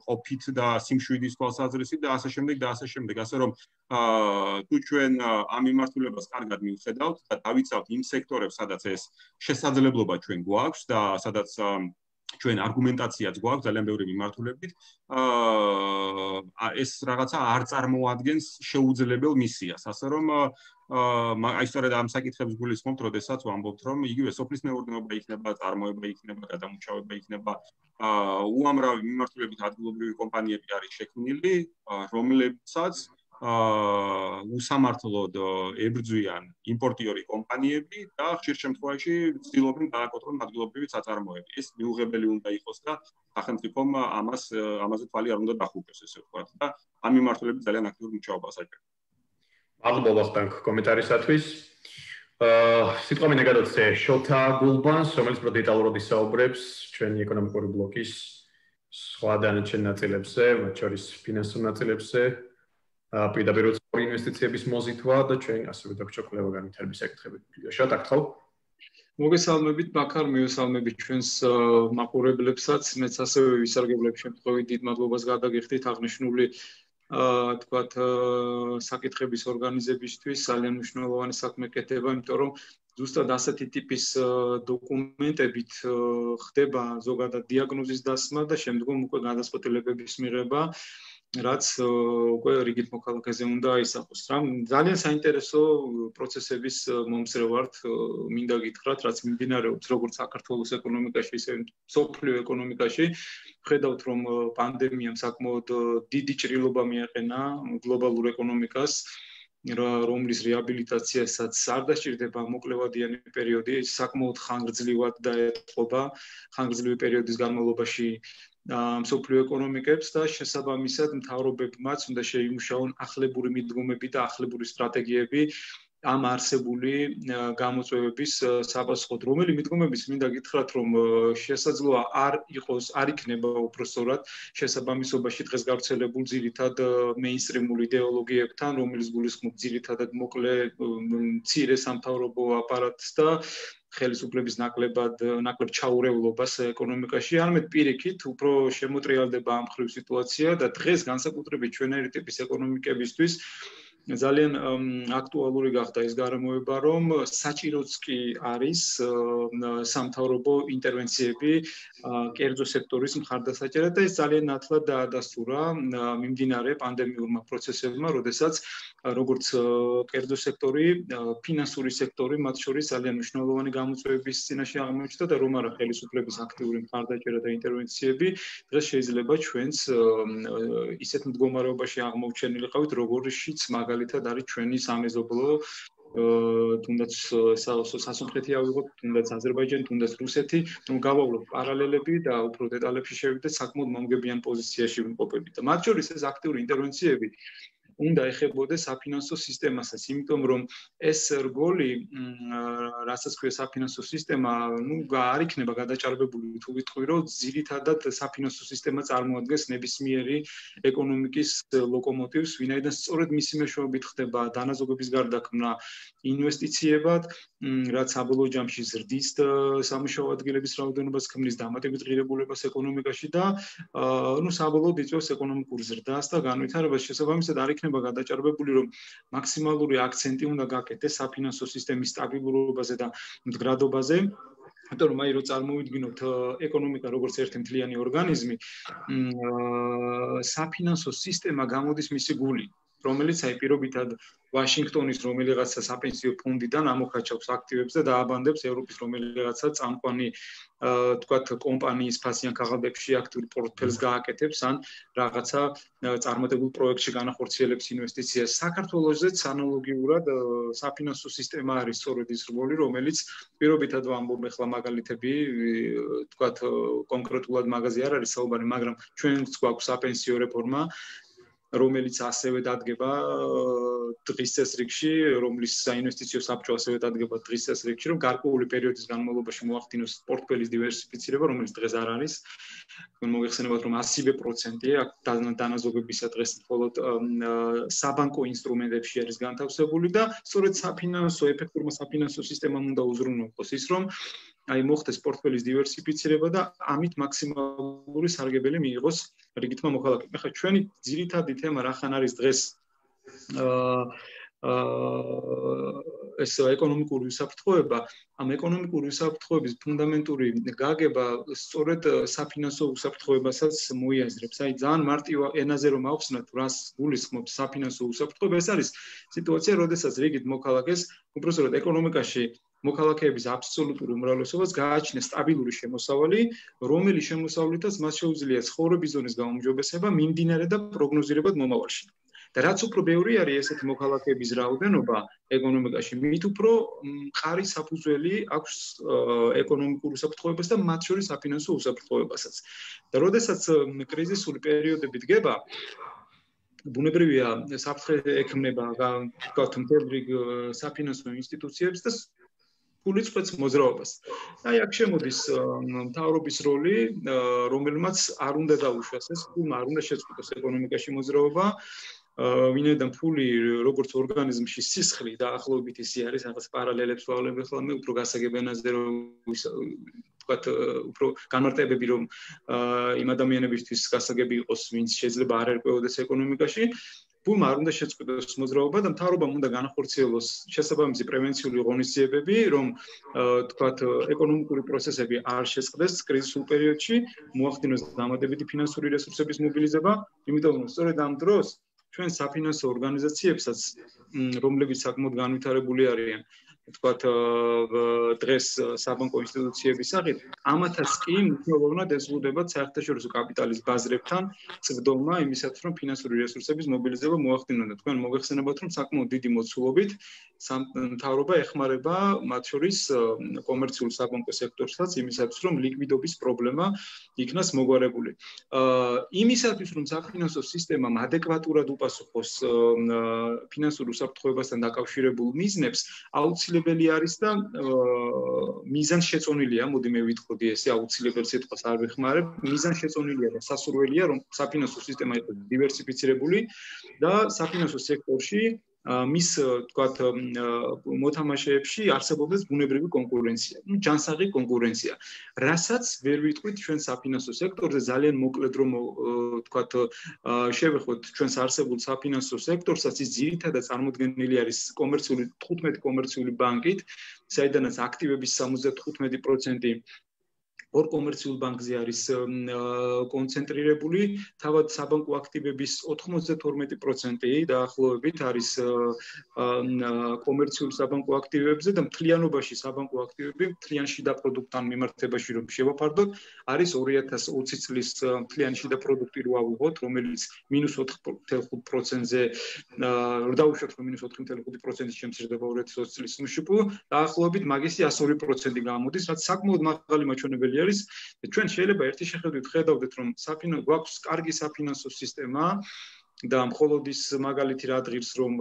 ყოფით და სიმშვიდის თვალსაზრისით და ასე შემდეგ და ასე შემდეგ. ასე რომ თუ ჩვენ ამ მიმართულებას კარგად მივხედავთ და დავიცავთ იმ სექტორებს, სადაც ეს შესაძლებლობა ჩვენ გვაქვს და სადაც ჩვენ არგუმენტაციაც გვაქვს ძალიან ბევრი მიმართულებით, ეს რაღაცა არ წარმოადგენს შეუძლებელ მისიას. ასე რომ აი სწორედ ამ საკითხებს გულისხმობთ, როდესაც ვამბობთ, რომ იგივე სოფლის მეურნეობა იქნება, წარმოება იქნება, გადამუშავება იქნება, უამრავი მიმართულებით ადგილობრივი კომპანიები არის შექმნილი, რომლებსაც უსამართლოდ ებრძვიან იმპორტიორი კომპანიები და ხშირ შემთხვევაში ცდილობენ დააკოტრონ ადგილობრივი საწარმოები. ეს მიუღებელი უნდა იყოს და სახელმწიფომ ამას ამაზე თვალი არ უნდა დახუქოს, ესე ვთქვათ და ამ მიმართულებით ძალიან აქტიური მუშაობა საჭიროა. მადლობა ვახტანგ კომენტარისათვის. სიტყვა მინდა გადაცე შოთა გულბანს, რომელიც უფრო დეტალურად ისაუბრებს ჩვენი ეკონომიკური ბლოკის სხვა დანარჩენ ნაწილებზე, მათ შორის ფინანსურ ნაწილებზე, პირდაპირ ინვესტიციების მოზიდვა და ჩვენ ასევე დაგჭირ კვლევა განვითარების საკითხები. შოთა, გთხოვ. მოგესალმებით, ბაქარ, მივესალმებით ჩვენს მაყურებლებსაც, მეც ასევე ვისარგებლებ შემთხვევით დიდ მადლობას გადაგიხდით აღნიშნული თქვათ საკითხების ორგანიზებისთვის ძალიან მნიშვნელოვანი საქმე კეთება, იმიტომ რომ ზუსტად ასეთი ტიპის დოკუმენტებით ხდება ზოგადად დიაგნოზის დასმა და შემდგომ უკვე გადაწყვეტილებების მიღება, რაც უკვე რიგით მოქალაქეზე უნდა აისახოს. რა ძალიან საინტერესო პროცესების მომსწრე ვართ, მინდა გითხრათ, რაც მიმდინარეობს როგორც საქართველოს ეკონომიკაში, ისე მსოფლიო ეკონომიკაში. ხედავთ, რომ პანდემიამ საკმაოდ დიდი ჭრილობა მიაყენა გლობალურ ეკონომიკას, რომლის რეაბილიტაციასაც არ დასჭირდება მოკლევადიანი პერიოდი, საკმაოდ ხანგრძლივად დაეტყობა ხანგრძლივი პერიოდის განმავლობაში მსოფლიო ეკონომიკებს და შესაბამისად მთავრობებმაც უნდა შეიმუშაონ ახლებური მიდგომები და ახლებური სტრატეგიები ამ არსებული გამოწვევების საპასუხოდ. რომელი მიდგომების მინდა გითხრათ, რომ შესაძლოა არ იყოს, არ იქნება უпростоრად შესაბამისობაში დღეს გავრცელებულ ძირითად მეინსტრიმულ იდეოლოგიებთან, რომელიც გულისხმობს ძირითადად მოკლე მცირე სამთავრობო აპარატს და ხელისუფლების ნაკლებად ნაკლებ ჩაურევლობას ეკონომიკაში, არამედ პირიქით უფრო შემოტრიალდება ამ ხრივ სიტუაცია და დღეს განსაკუთრებით ჩვენერი ტიპის ეკონომიკებისთვის ძალიან აქტუალური გახდა ეს გარემოება, რომ საჭიროც კი არის სამთავრობო ინტერვენციები კერძო სექტორის მხარდასაჭერად და ეს ძალიან ნათლად დაადასტურა მიმდინარე პანდემიურმა პროცესებმა, როდესაც როგორც კერძო სექტორი, ფინანსური სექტორი მათ შორის ძალიან მნიშვნელოვანი გამოწვევების წინაშე აღმოჩნდა და რომ არა ხელისუფლების აქტიური მხარდაჭერა და ინტერვენციები, დღეს შეიძლება ჩვენს ისეთ მდგომარეობაში აღმოჩენილიყავით, როგორშიც მაგალითად არის ჩვენი სამეზობლო, თუნდაც სასუნთქეთი ავიღოთ, თუნდაც აზერბაიჯანი, თუნდაც რუსეთი, რომ გავავლოთ პარალელები და უფრო დეტალებში შევიდეთ, საკმაოდ მომგებიან პოზიციაში ვიმყოფებით. და მათ შორის ეს აქტიური ინტერვენციები უნდა ეხებოდეს საფინანსო სისტემასაც, იმიტომ რომ ეს რგოლი, რასაც ქვია საფინანსო სისტემა, ну, არ იქნება გადაჭარბებული თუ ვიტყვი, რომ ძირითადად საფინანსო სისტემა წარმოადგენს ნებისმიერი ეკონომიკის ლოკომოტივს, ვინაიდან სწორედ მისი მეშვეობით ხდება დანაზოგების გარდაქმნა ინვესტიციებად, რაც საბოლოო ჯამში ზრდის სამუშაო ადგილების რაოდენობას, ქმნის დამატებით ღირებულებას ეკონომიკაში და ну, საბოლოოდ იწვევს ეკონომიკურ ზრდას და განვითარებას. შესაბამისად, არ იქნება გადაჭარბებული, რომ მაქსიმალური აქცენტი უნდა გაკეთდეს საფინანსო სისტემის სტაბილურობაზე და მდგრადობაზე. იმიტომ რომ აი რო წარმოვიდგინოთ ეკონომიკა როგორც ერთი მთლიანი ორგანიზმი, საფინანსო სისტემა გამოდის მისი გული, რომელიც აი პირობითად ვაშინგტონის რომელიღაცა საპენსიო ფონდიდან ამოხაჩავს აქტივებს და დააბანდებს ევროპის რომელიღაცა წამყვანი თქვათ კომპანიის ფასიან ქაღალდებში აქტიურ პორტფელს გააკეთებს ან რაღაცა წარმატებულ პროექტში განახორციელებს ინვესტიციას. საქართველოსაც ანალოგიურად საფინანსო სისტემა არის სწორედ ის რგოლი, რომელიც პირობითად ვამბობ ახლა მაგალითები, თქვათ კონკრეტულად მაგაზე არ არის საუბარი, მაგრამ ჩვენც გვაქვს საპენსიო რეფორმა, რომელიც ასევე დადგება დღის წესრიგში, რომლის საინვესტიციო საბჭო ასევე დადგება დღის წესრიგში, რომ გარკვეული პერიოდის განმავლობაში მოახდინოს პორტფელის დივერსიფიცირება, რომელიც დღეს არ არის. მოგეხსენებათ, რომ ასივე პროცენტი აქ დანაზოგებისა დღეს მხოლოდ საბანკო ინსტრუმენტებში არის განთავსებული და სწორედ საფინანსო ეფექტურმა საფინანსო სისტემამ უნდა უზრუნველყოს ის, რომ აი მოხდეს პორტფელის დივერსიფიცირება და ამით მაქსიმალური სარგებელი მიიღოს რიგითმა მოქალაქემ. ახლა ჩვენი ძირითადი თემა რახან არის დღეს ეს ეკონომიკური უსაფრთხოება, ამ ეკონომიკური უსაფრთხოების ფუნდამენტური გაგება სწორედ საფინანსო უსაფრთხოებასაც მოიაზრებს. აი ძალიან მარტივ ენაზე რომ ავხსნათ, რას გულისხმობს საფინანსო უსაფრთხოება, ეს არის სიტუაცია, როდესაც რიგით მოქალაქეს უბრალოდ ეკონომიკაში მოქალაქეების აბსოლუტურ უმრავლესობას გააჩნია სტაბილური შემოსავალი, რომელიც შემოსავლითაც მას შეუძლია ცხოვრების ზონის გაუმჯობესება, მიმდინარე და პროგნოზირებად მომავალში. და რაც უფრო ბევრი არის ესეთი მოქალაქეების რაოდენობა ეკონომიკაში, მით უფრო მყარი საფუძველი აქვს ეკონომიკურ უსაფრთხოებას და მათ შორის საფინანსო უსაფრთხოებასაც. და როდესაც კრიზისული პერიოდები დგება, ბუნებრივია საფრთხე ექმნება თქვათ მთელ რიგ საფინანსო ინსტიტუციებს და ფული წვეთს მოძრაობას. აი აქ შემოდის მთავრობის როლი, რომელმაც არ უნდა დაუშვას ეს ფულმა, არ უნდა შეწყვიტოს ეკონომიკაში მოძრაობა. ვინაიდან ფული როგორც ორგანიზმში სისხლი დაახლოებით ისე არის, რაღაც პარალელებს ვავლებ ახლა მე უფრო გასაგებ ენაზე რომ ვთქვათ, უფრო განმარტებები რომ იმ ადამიანებისთვის გასაგები იყოს, ვინც შეიძლება არ ერკვეოდეს ეკონომიკაში. ფულმა არ უნდა შეწყვიტოს მოძრაობა და მთავრობამ უნდა განახორციელოს შესაბამისი პრევენციული ღონისძიებები, რომ თქვათ ეკონომიკური პროცესები არ შეწყდეს კრიზისულ პერიოდში, მოახდინოს დამატებითი ფინანსური რესურსების მობილიზება, იმიტომ რომ სწორედ ამ დროს ჩვენ საფინანსო ორგანიზაციებსაც, რომლებიც საკმაოდ განვითარებული არიან, თქვათ დღეს საბანკო ინსტიტუციების სახით, ამათაც კი მნიშვნელოვნად ეზღუდებათ საერთაშორისო კაპიტალის ბაზრებთან წვდომა იმისათვის, რომ ფინანსური რესურსების მობილიზება მოახდინონ და თქვენ მოგეხსენებათ, რომ საკმაოდ დიდი მოცულობით მთავრობა ეხმარება მათ შორის კომერციულ საბანკო სექტორსაც იმისათვის, რომ ლიკვიდობის პრობლემა იქნას მოგვარებული. იმისათვის, რომ საფინანსო სისტემამ ადეკვატურად უპასუხოს ფინანსურ უსაფრთხოებასთან დაკავშირებულ მიზნებს, აუცილებელი არის და მიზანშეწონილია, მოდი მე ვიტყოდი ესე, აუცილებელ სიტყვას არ ვეხმარებ, მიზანშეწონილია და სასურველია, რომ საფინანსო სისტემა იყოს დივერსიფიცირებული და საფინანსო სექტორში მის თქვათ მოთამაშეებში არსებობდეს ბუნებრივი კონკურენცია, ну ჯანსაღი კონკურენცია, რასაც ვერ ვიტყვით ჩვენ საფინანსო სექტორზე ძალიან მოკლედ რომ თქვათ შევეხოთ ჩვენს არსებულ საფინანსო სექტორსაც, ის ძირითადად წარმოდგენილი არის კომერციული თხუთმეტი კომერციული ბანკით, საიდანაც აქტივების სამოცდათხუთმეტი პროცენტი ორ კომერციულ ბანკზე არის კონცენტრირებული, თავად საბანკო აქტივების ოთხმოცდათორმეტი პროცენტი დაახლოებით არის კომერციულ საბანკო აქტივებზე და მთლიანობაში საბანკო აქტივები მთლიან შიდა პროდუქტთან მიმართებაში რომ შევაფარდოთ, არის ორი ათას ოცი წლის მთლიანი შიდა პროდუქტი რო ავიღოთ, რომელიც მინუს ოთხ ათას ხუთი პროცენტზე დავუშვათ, რომ მინუს ოთხ ათას ხუთი პროცენტი შემცირდება ორი ათას ოცი წლის მშპ, დაახლოებით მაგისი εκατო ორი პროცენტი გამოდის, რაც საკმაოდ მაღალი მაჩვენებელი არის. ჩვენ შეიძლება ერთი შეხედვით ხედავდეთ, რომ საფინანსო გვაქვს კარგი საფინანსო სისტემა, და მხოლოდ ის მაგალითი რა დღის რომ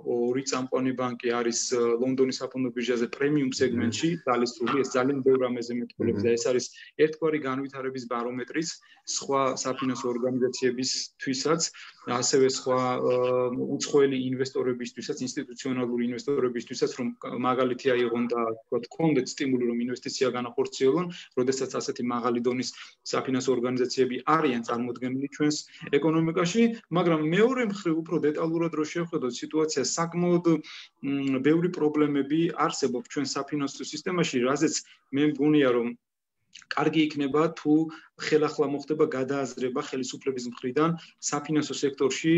ორი წამყვანი ბანკი არის ლონდონის საფონდო ბირჟაზე პრემიუმ სეგმენტში ძალისრული ეს ძალიან ბევრ რამეზე მეტყველებს და ეს არის ერთგვარი განვითარების ბარომეტრიც სხვა საფინანსო ორგანიზაციებისთვისაც ასევე სხვა უცხოელი ინვესტორებისთვისაც ინსტიტუციონალური ინვესტორებისთვისაც რომ მაგალითი აიღონ და თქვა გქონდეთ სტიმული რომ ინვესტიცია განახორციელონ როდესაც ასეთი მაღალი დონის საფინანსო ორგანიზაციები არიან წარმოდგენილი ჩვენს ეკონომიკაში მაგრამ მეორე მხრივ უფრო დეტალურად რო შევხედოთ სიტუაციას საკმაოდ ბევრი პრობლემები არსებობს ჩვენ საფინანსო სისტემაში რაზეც მე მგონია რომ კარგი იქნება თუ ხელახლა მოხდება გადააზრება ხელისუფლების მხრიდან საფინანსო სექტორში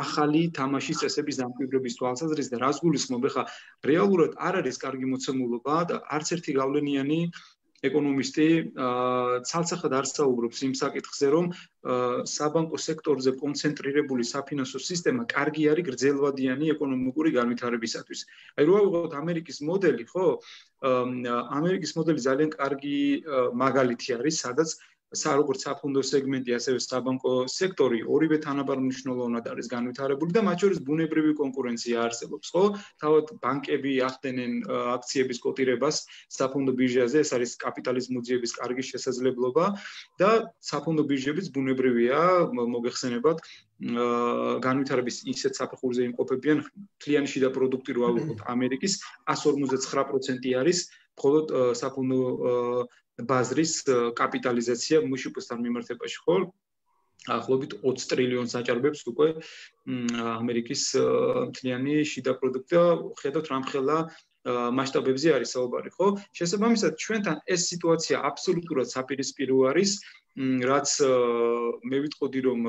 ახალი თამაშის წესების დამკვიდრების თვალსაზრისით და რას გულისხმობ ხა რეალურად არ არის კარგი მოცემულობა და არც ერთი გავლენიანი ეკონომისტი ცალსახად არ საუბრობს იმ საკითხზე რომ საბანკო სექტორზე კონცენტრირებული საფინანსო სისტემა კარგი არის გრძელვადიანი ეკონომიკური განვითარებისათვის. აი რო ავიღოთ ამერიკის მოდელი, ხო? ამერიკის მოდელი ძალიან კარგი მაგალითი არის, სადაც როგორც საფონდო სეგმენტი, ასევე საბანკო სექტორი ორივე თანაბარ მნიშვნელოვნად არის განვითარებული და მათ შორის ბუნებრივი კონკურენცია არსებობს, ხო? თავად ბანკები ახდენენ აქციების კოტირებას საფონდო ბირჟაზე, ეს არის კაპიტალის მოძიების კარგი შესაძლებლობა და საფონდო ბირჟებიც ბუნებრივია, მოგეხსენებათ, განვითარების ისეთ საფეხურზე იმყოფებიან, მთლიანი შიდა პროდუქტი რო ავიღოთ ამერიკის εκατს ორმოცდათსაათ პროცენტი არის, მხოლოდ საფონდო ბაზრის კაპიტალიზაცია მუშიპოსთან მიმართებაში, ხო? ახლობით ოცი ტრილიონს აჭარბებს უკვე ამერიკის მთლიანი შიდა პროდუქტი და ხედავთ რამხელა მასშტაბებზე არის საუბარი, ხო? შესაბამისად, ჩვენთან ეს სიტუაცია აბსოლუტურად საპირისპირო არის, რაც მე ვიტყოდი რომ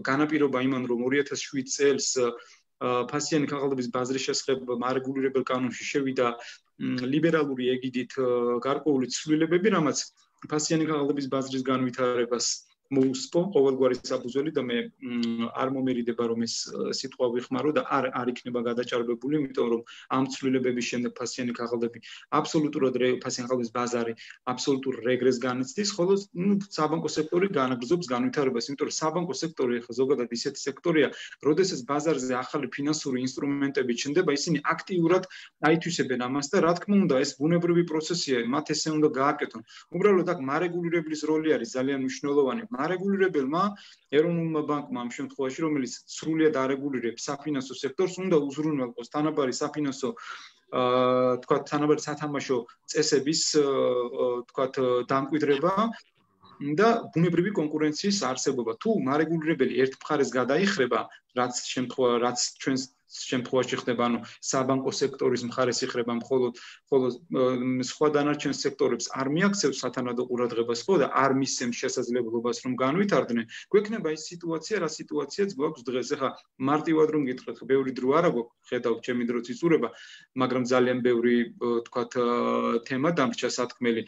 განაპირობა იმან რომ ორი ათას შვიდ წელს ფასიანი ქაღალდების ბაზრის შესახებ მარეგულირებელ კანონში შევიდა ლიბერალური ეგიდით გარკვეული ცვლილებები, რამაც ფასიანი ქაღალდების ბაზრის განვითარებას მოუსწრო ყოველგვარი საფუძველი და მე არ მომერიდება რომ ეს სიტყვა ვიხმარო და არ არ იქნება გადაჭარბებული, იმიტომ რომ ამ ცვლილებების შემდეგ ფასიანი ქაღალდები აბსოლუტურად ფასიანი ქაღალდების ბაზარი აბსოლუტურ რეგრესს განიცდის, ხოლო საბანკო სექტორი განაგრძობს განვითარებას, იმიტომ რომ საბანკო სექტორი ხა ზოგადად ისეთი სექტორია, როდესაც ბაზარზე ახალი ფინანსური ინსტრუმენტები ჩნდება, ისინი აქტიურად აითვისებენ ამას და რა თქმა უნდა, ეს ბუნებრივი პროცესია, მათ ესე უნდა გააკეთონ. უბრალოდ აქ მარეგულირებლის როლი არის ძალიან მნიშვნელოვანი. მარეგულირებელმა ეროვნულმა ბანკმა ამ შემთხვევაში, რომელიც სრულიად არეგულირებს საფინანსო სექტორს, უნდა უზრუნველყოს თანაბარი საფინანსო აა თქვა თანაბარი სათამაშო წესების თქვა დამკვიდრება და ბუნებრივი კონკურენციის არსებობა. თუ მარეგულირებელი ერთ მხარეს გადაიხრება, რაც შემთხვევა, რაც ჩვენს შემთხვევაში ხდება, ანუ საბანკო სექტორის მხარეს იხრება მხოლოდ, ხოლო სხვა დანარჩენ სექტორებს არ მიაქცევს სათანადო ყურადღებას, ხო და არ მისცემს შესაძლებლობას რომ განვითარდნენ, გვექნება ის სიტუაცია, რა სიტუაციაც გვაქვს დღეს. ეხლა მარტივად რომ გითხრათ, ბევრი დრო არა გვაქვს, ხედავთ ჩემი დროც იწურება, მაგრამ ძალიან ბევრი თქვათ თემა დამრჩა სათქმელი.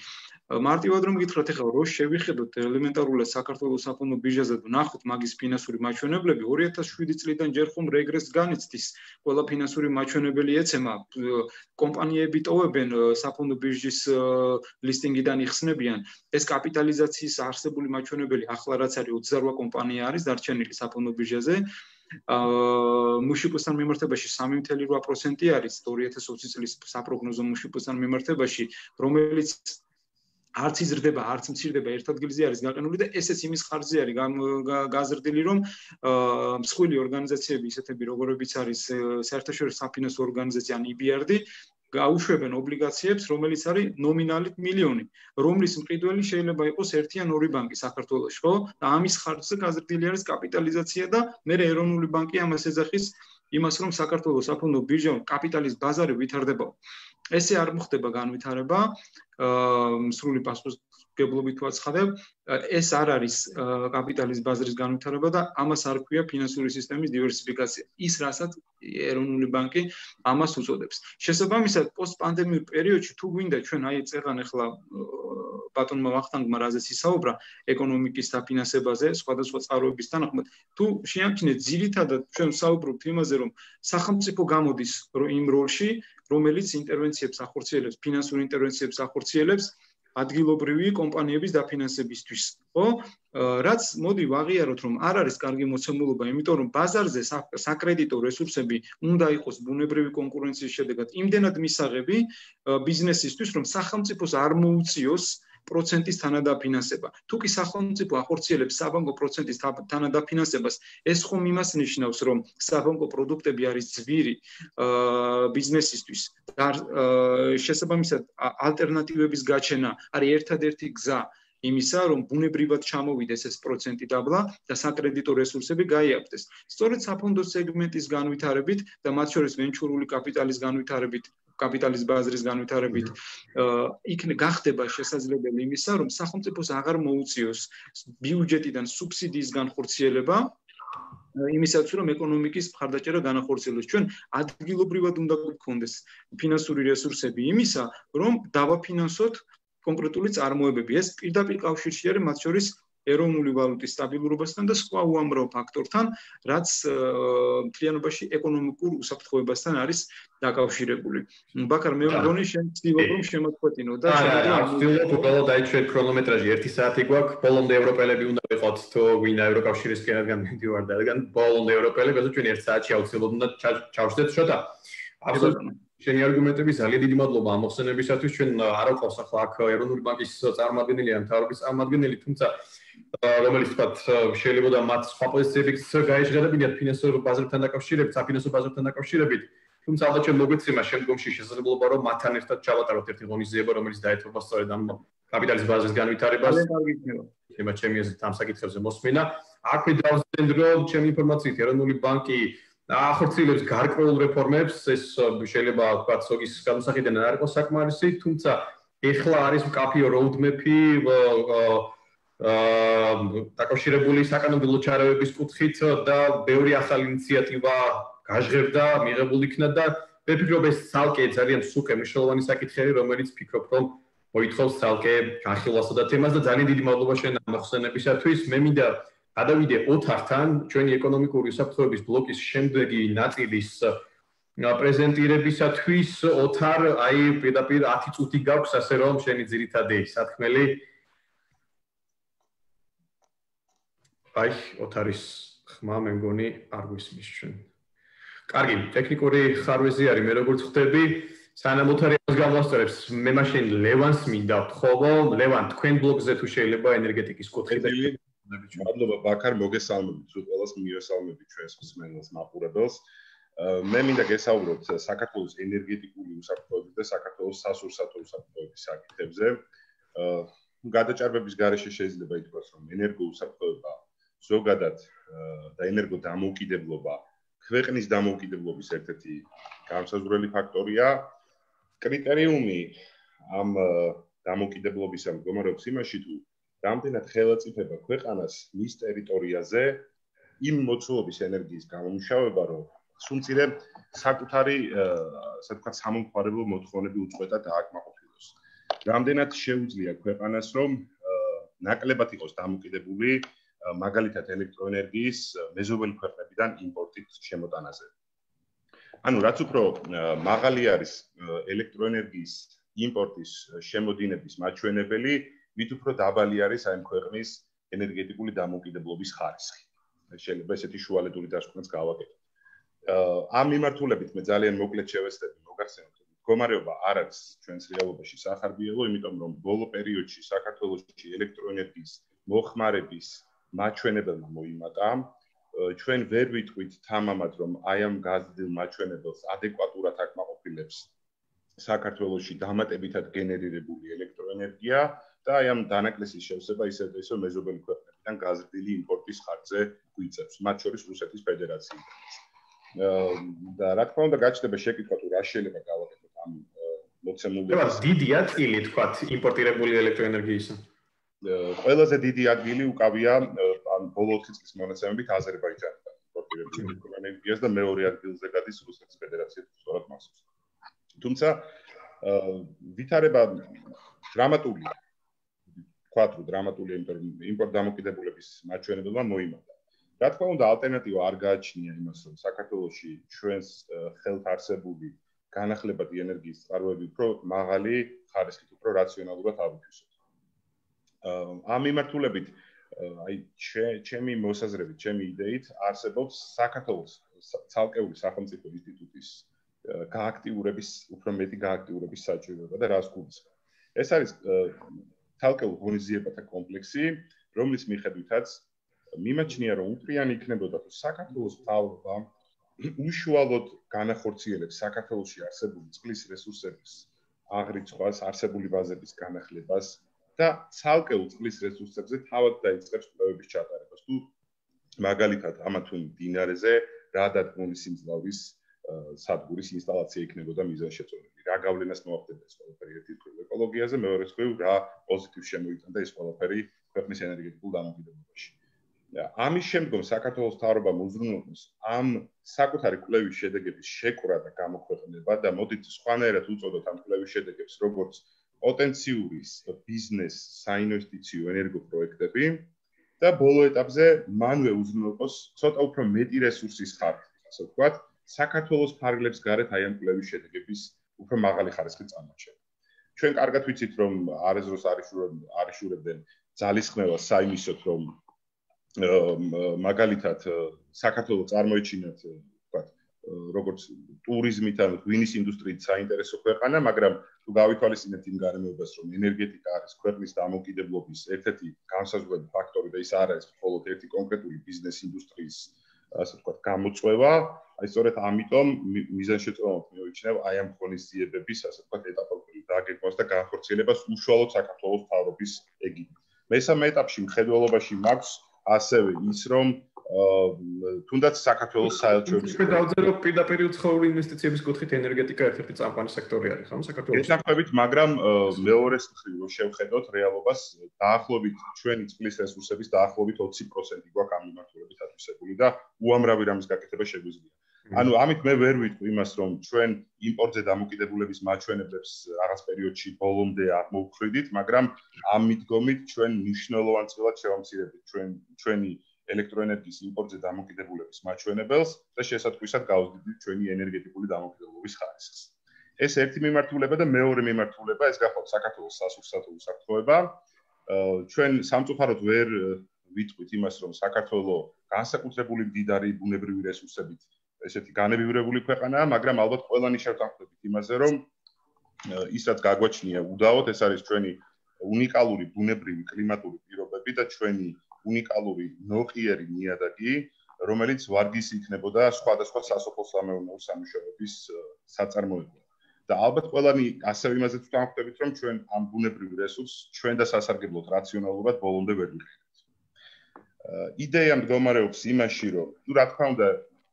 მარტივად რომ გითხრათ, ეხლა რო შევიხედოთ ელემენტარულად საქართველოს საფონდო ბირჟაზე და ნახოთ მაგის ფინანსური მაჩვენებლები, ორი ათას შვიდი წლიდან ჯერ ხომ რეგრესს განიცდის. ყველა ფინანსური მაჩვენებელი ეცემა, კომპანიები ტოვებენ საფონდო ბირჟის ლისტინგიდან იხსნებიან. ეს კაპიტალიზაციის არსებული მაჩვენებელი ახლა რაც არის ოცდაოთხ კომპანია არის დარჩენილი საფონდო ბირჟაზე. აა მუშიპოსთან მიმართებაში სამი ათეული რვა პროცენტი არის ორი ათას ოცი წლის საპროგნოზო მუშიპოსთან მიმართებაში, რომელიც არც იზრდება, არც მცირდება, ერთ ადგილზე არის გაყენული და ესეც იმის ხარჯზე არის გაზრდილი, რომ მსხვილი ორგანიზაციები, ისეთები როგორებიც არის საერთაშორისო საფინანსო ორგანიზაცია ან ი ბი არ დი, გაუშვებენ ობლიგაციებს, რომელიც არის ნომინალით მილიონი, რომლის მყიდველი შეიძლება იყოს ერთი ან ორი ბანკი საქართველოში, ხო? და ამის ხარჯზე გაზრდილი არის კაპიტალიზაცია და მე ეროვნული ბანკი ამას ეძახის იმას, რომ საქართველოს საფონდო ბირჟა კაპიტალის ბაზარი ვითარდებაო. ესე არ მოხდება განვითარება, სრული პასუხისმგებლობით ვაცხადებ, ეს არ არის კაპიტალის ბაზრის განვითარება და ამას არ ქვია ფინანსური სისტემის დივერსიფიკაცია. ის რასაც ეროვნული ბანკი ამას უწოდებს. შესაბამისად, პოსტპანდემიურ პერიოდში თუ გვინდა ჩვენ აი წერან ახლა ბატონმა ვახტანგმა რაზეც ისაუბრა ეკონომიკის დაფინანსებაზე, სხვადასხვა წყაროების თანახმად, თუ შეამჩნიეთ ძირითადად ჩვენ საუბრობთ იმაზე, რომ სახელმწიფო გამოდის იმ როლში, რომელიც ინტერვენციებს ახორციელებს, ფინანსურ ინტერვენციებს ახორციელებს ადგილობრივი კომპანიების დაფინანსებისთვის, ხო? რაც მოდი ვაღიაროთ, რომ არ არის კარგი მოცემულობა, იმიტომ რომ ბაზარზე საკრედიტო რესურსები უნდა იყოს ბუნებრივი კონკურენციის შედეგად იმდენად მისაღები ბიზნესისთვის, რომ სახელმწიფოს არ მოუწიოს პროცენტის თანადაფინანსება. თუ კი სახელმწიფო ახორციელებს საბანკო პროცენტის თანადაფინანსებას, ეს ხომ იმას ნიშნავს, რომ საბანკო პროდუქტები არის ძვირი ბიზნესისთვის და შესაბამისად ალტერნატივების გაჩენა არის ერთადერთი გზა იმისა, რომ ბუნებრივად ჩამოვიდეს ეს პროცენტი დაბლა და საკრედიტო რესურსები გაიაფრდეს. სწორედ საფონდო სეგმენტის განვითარებით და მათ შორის ვენჩურული კაპიტალის განვითარებით, კაპიტალის ბაზრის განვითარებით იქნე გახდება შესაძლებელი იმისა, რომ სახელმწიფოს აღარ მოუწიოს ბიუჯეტიდან სუბსიდიის განხორციელება იმისათვის, რომ ეკონომიკის მხარდაჭერა განახორციელოს. ჩვენ ადგილობრივად უნდა გვქონდეს ფინანსური რესურსები იმისა, რომ დავაფინანსოთ კონკრეტული წარმოებები. ეს პირდაპირ კავშირში არის მათ შორის ეროვნული ვალუტის სტაბილურობასთან და სხვა უამრავ ფაქტორთან, რაც მთლიანობაში ეკონომიკურ უსაფრთხოებასთან არის დაკავშირებული. ბაქარ, მე მგონი შენ ცდილობ რომ შემოწყვეტინო და ცდილობ უბრალოდ დაიჩვენ ქრონომეტრაჟი ერთი საათი გვაქვს, ბოლომდე ევროპელები უნდა ვიყოთ თუ ვინა ევროკავშირისკენ რადგან მიდივარ და რადგან ბოლომდე ევროპელები, ასე ჩვენ ერთ საათში აუცილებლად უნდა ჩავშდეთ შოთა. აბსოლუტურად შენი არგუმენტები ძალიან დიდი მადლობა ამ მოხსენებისათვის. ჩვენ არ ვყავს ახლა აქ ეროვნული ბანკის წარმომადგენელი ან მთავრობის წარმომადგენელი, თუმცა რომელიც თქვათ შეიძლება და მათ სხვა პოზიციებიც გაეშღერებინათ ფინანსურ ბაზრთან დაკავშირებით, საფინანსო ბაზრთან დაკავშირებით. თუმცა ალბათ ჩვენ მოგვეცემა შემდგომში შესაძლებლობა რომ მათთან ერთად ჩავატაროთ ერთი ღონისძიება, რომელიც დაეთმობა სწორედ ამ კაპიტალის ბაზრის განვითარებას. შეიძლება ჩემი აზრით ამ საკითხებზე მოსმენა. აქვე დავზენ რომ ჩემი ინფორმაციით ეროვნული ბანკი ახორციელებს გარკვეულ რეფორმებს, ეს შეიძლება ვთქვათ სოგის განსახილდან არ იყოს საკმარისი, თუმცა ეხლა არის მკაფიო roadmap-ი დაკავშირებული საკანონმდებლო ჩარევების კუთხით და ბევრი ახალი ინიციატივა გაჟღერდა, მიღებული იქნა და მე ვფიქრობ ეს ცალკე ძალიან სუკე მნიშვნელოვანი საკითხია, რომელიც ვფიქრობ რომ მოითხოვს ცალკე განხილვასა და თემას და ძალიან დიდი მადლობა შენ ამ მოხსენებისათვის. მე მინდა გადავიდე ოთართან, ჩვენი ეკონომიკური უსაფრთხოების ბლოკის შემდეგი ნაწილის პრეზენტირებისათვის. ოთარ, აი პირდაპირ ათი წუთი გაქვს, ასე რომ შენი ძირითადი სათქმელი. აი, ოთარის ხმა მე მგონი არ გვისმის ჩვენ. კარგი, ტექნიკური ხარვეზი არის, მე როგორც ხვდები, სანამ ოთარი ამას გამოსწორებს, მე მაშინ ლევანს მინდა ვთხოვო. ლევან, თქვენ ბლოგზე თუ შეიძლება ენერგეტიკის კუთხიდან მადლობა ბაქარ, მოგესალმებით, თუ ყველას მიესალმებით ჩვენს მსმენელს, მაყურებელს. მე მინდა გესაუბროთ საქართველოს ენერგეტიკული უსაფრთხოების და საქართველოს სასურსათო უსაფრთხოების საკითხებზე. გადაჭარბების გარეშე შეიძლება ითქვას, რომ ენერგოუსაფრთხოება ზოგადად და ენერგოდამოუკიდებლობა ქვეყნის დამოუკიდებლობის ერთ-ერთი განსაზღვრელი ფაქტორია. კრიტერიუმი ამ დამოუკიდებლობისა მდგომარეობს იმაში, თუ რამდენად ხელაწიფება ქვეყანას მის ტერიტორიაზე იმ მოცულობის ენერგიის გამომუშავება, რომ სულწირე საკუთარი, ასე ვთქვათ, სამომხმარებლო მოთხოვნები უწყვეტად დააკმაყოფილოს. რამდენად შეუძლია ქვეყანას, რომ ნაკლებად იყოს დამოკიდებული მაგალითად ელექტროენერგიის მეზობელი ქვეყნებიდან იმპორტით შემოტანაზე. ანუ რაც უფრო მაღალი არის ელექტროენერგიის იმპორტის შემოდინების მაჩვენებელი, მით უფრო დაბალი არის აი ქვეყნის ენერგეტიკული დამოუკიდებლობის ხარისხი. შეიძლება ესეთი შუალედური დასკვნაც გავაკეთოთ. ამ მიმართულებით მე ძალიან მოკლედ შევეცდები მოგახსენოთ, რომ მდგომარეობა არ არის ჩვენს რეალობაში სახარბიელო, იმიტომ რომ ბოლო პერიოდში საქართველოში ელექტროენერგიის მოხმარების მაჩვენებელმა მოიმატა. ჩვენ ვერ ვიტყვით თამამად, რომ აი ამ გაზრდილ მაჩვენებელს ადეკვატურად აკმაყოფილებს საქართველოში დამატებითად გენერირებული ელექტროენერგია და აი ამ დანაკლისის შევსება ისევ ისევ მეზობელი ქვეყნებიდან გაზრდილი იმპორტის ხარჯზე გვიწევს, მათ შორის რუსეთის ფედერაციიდან. და რა თქმა უნდა გაჩნდება შეკითხვა, თუ რა შეიძლება გავაკეთოთ ამ მოცემულობას. დიდია წილი თქვათ იმპორტირებული ელექტროენერგიისა. ყველაზე დიდი ადგილი უკავია ან ბოლო ოთხი წლის მონაცემებით აზერბაიჯანიდან იმპორტირებული ელექტროენერგიას და მეორე ადგილზე გადის რუსეთის ფედერაცია სწორად მასზე. თუმცა ვითარება დრამატულია. ვთქვათ, რომ დრამატულია, იმიტომ რომ იმპორტ დამოკიდებულების მაჩვენებელმა მოიმატა. რა თქმა უნდა, ალტერნატივა არ გააჩნია იმას, რომ საქართველოში ჩვენს ხელთ არსებული განახლებადი ენერგიის წყაროები უფრო მაღალი ხარისხით, უფრო რაციონალურად ავითვისოთ. ამ მიმართულებით აი ჩემი მოსაზრებით, ჩემი იდეით არსებობს საქართველოს ცალკეული სახელმწიფო ინსტიტუტის გააქტიურების, უფრო მეტი გააქტიურების საჭიროება და რას გულისხმობ. ეს არის ცალკეულ ღონისძიებათა კომპლექსი, რომლის მიხედვითაც მიმაჩნია, რომ უპრიანი იქნებოდა, თუ საქართველოს მთავრობა უშუალოდ განახორციელებს საქართველოში არსებული წყლის რესურსების აღრიცხვას, არსებული ბაზების განახლებას და ცალკეულ წყლის რესურსებზე თავად დაიწყებს კვლევების ჩატარებას. თუ მაგალითად ამა თუ მდინარეზე რა დადგმული სიმძლავრის სადგურის ინსტალაცია იქნებოდა მიზანშეწონილი. რა გავლენას მოახდენდა ეს ყველაფერი ერთი მხრივ ეკოლოგიაზე, მეორე მხრივ რა პოზიტივს შემოიტანდა ეს ყველაფერი ქვეყნის ენერგეტიკულ დამოკიდებულებაში. ამის შემდგომ საქართველოს მთავრობამ უზრუნველყოს ამ საკუთარი კვლევის შედეგების შეკრა და გამოქვეყნება და მოდით სხვანაირად უწოდოთ ამ კვლევის შედეგებს როგორც პოტენციური ბიზნეს საინვესტიციო ენერგოპროექტები და ბოლო ეტაპზე მანვე უზრუნველყოს ცოტა უფრო მეტი რესურსის ხარჯი, ასე ვთქვათ, საქართველოს ფარგლებს გარეთ აი ამ კვლევის შედეგების უფრო მაღალი ხარისხის წარმოჩენა. ჩვენ კარგად ვიცით, რომ არეზროს არიშურებდნენ ძალისხმევას საიმისოდ, რომ მაგალითად საქართველოს წარმოიჩინათ, ვთქვათ, როგორც ტურიზმით ან ღვინის ინდუსტრიით საინტერესო ქვეყანა, მაგრამ თუ გავითვალისწინებთ იმ გარემოებას, რომ ენერგეტიკა არის ქვეყნის დამოუკიდებლობის ერთ-ერთი განსაზღვრელი ფაქტორი და ის არ არის მხოლოდ ერთი კონკრეტული ბიზნეს ინდუსტრიის, ასე ვთქვათ, გამოწვევა, აი სწორედ ამიტომ მიზანშეწონილად მივიჩნევ აი ამ ღონისძიებების, ასე ვთქვათ, ეტაპობრივ დაგეგმვას და განხორციელებას უშუალოდ საქართველოს მთავრობის ეგიდით. მესამე ეტაპში მხედველობაში მაქვს ასევე ის, რომ თუნდაც საქართველოს საელჩოების მე დავწერე, რომ პირდაპირ უცხოური ინვესტიციების კუთხით ენერგეტიკა ერთ-ერთი წამყვანი სექტორი არის, ხო, საქართველოს. ეთანხმებით, მაგრამ მეორეს მხრივ რომ შევხედოთ რეალობას, დაახლოებით ჩვენი წყლის რესურსების დაახლოებით ოცი პროცენტი გვაქვს ამ მიმართულებით ათვისებული და უამრავი რამის გაკეთება შეგვიძლია. ანუ ამით მე ვერ ვიტყვი იმას, რომ ჩვენ იმპორტზე დამოკიდებულების მაჩვენებლებს რაღაც პერიოდში ბოლომდე აღმოვხვრიდით, მაგრამ ამ მიდგომით ჩვენ მნიშვნელოვან წილად შევამცირებთ ჩვენ ჩვენი ელექტროენერგიის იმპორტზე დამოკიდებულების მაჩვენებელს და შესატყვისად გავზრდით ჩვენი ენერგეტიკული დამოკიდებულების ხარისხს. ეს ერთი მიმართულება და მეორე მიმართულება ეს გახავთ საქართველოს სასურსათო უსაფრთხოება. ჩვენ სამწუხაროდ ვერ ვიტყვით იმას, რომ საქართველოს განსაკუთრებული მდიდარი ბუნებრივი რესურსებით ესეთი განებივრებული ქვეყანაა, მაგრამ ალბათ ყველანი შევთანხმდებით იმაზე, რომ ის რაც გაგვაჩნია უდაოდ, ეს არის ჩვენი უნიკალური ბუნებრივი კლიმატური პირობები და ჩვენი უნიკალური ნოყიერი ნიადაგი, რომელიც ვარგისი იქნებოდა სხვადასხვა სასოფლო-სამეურნეო სამუშაოების საწარმოებლად. და ალბათ ყველანი ასევე იმაზეც ვთანხმდებით, რომ ჩვენ ამ ბუნებრივ რესურსს ჩვენ და სასარგებლოდ რაციონალურად ბოლომდე ვერ ვიყენებთ. იდეა მდგომარეობს იმაში, რომ თუ რა თქმა უნდა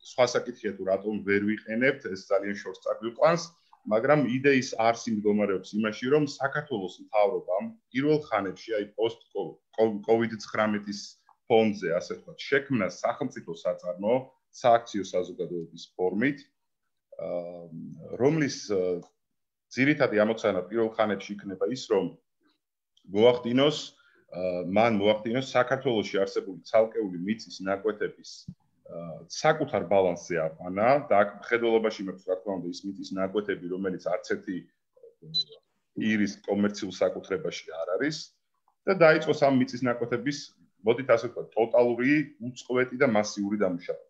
სხვა საკითხია თუ რატომ ვერ ვიყენებთ, ეს ძალიან შორს წაგვიყვანს, მაგრამ იდეის არსი მდგომარეობს იმაში, რომ საქართველოს მთავრობამ პირველ ხანებში, აი პოსტ კოვიდ ცხრამეტის ფონდზე, ასე ვთქვათ, შექმნა სახელმწიფო საწარმო სააქციო საზოგადოების ფორმით, რომლის ძირითადი ამოცანა პირველ ხანებში იქნება ის, რომ მოახდინოს მან მოახდინოს საქართველოში არსებული ცალკეული მიწის ნაკვეთების საკუთარ ბალანსზე აყვანა და აქ მხედველობაში მაქვს რა თქმა უნდა ის მიწის ნაკვეთები, რომელიც არც ერთი პირის კომერციულ საკუთრებაში არ არის და დაიწყოს ამ მიწის ნაკვეთების, მოდით ასე ვთქვათ, ტოტალური, უწყვეტი და მასიური დამუშავება.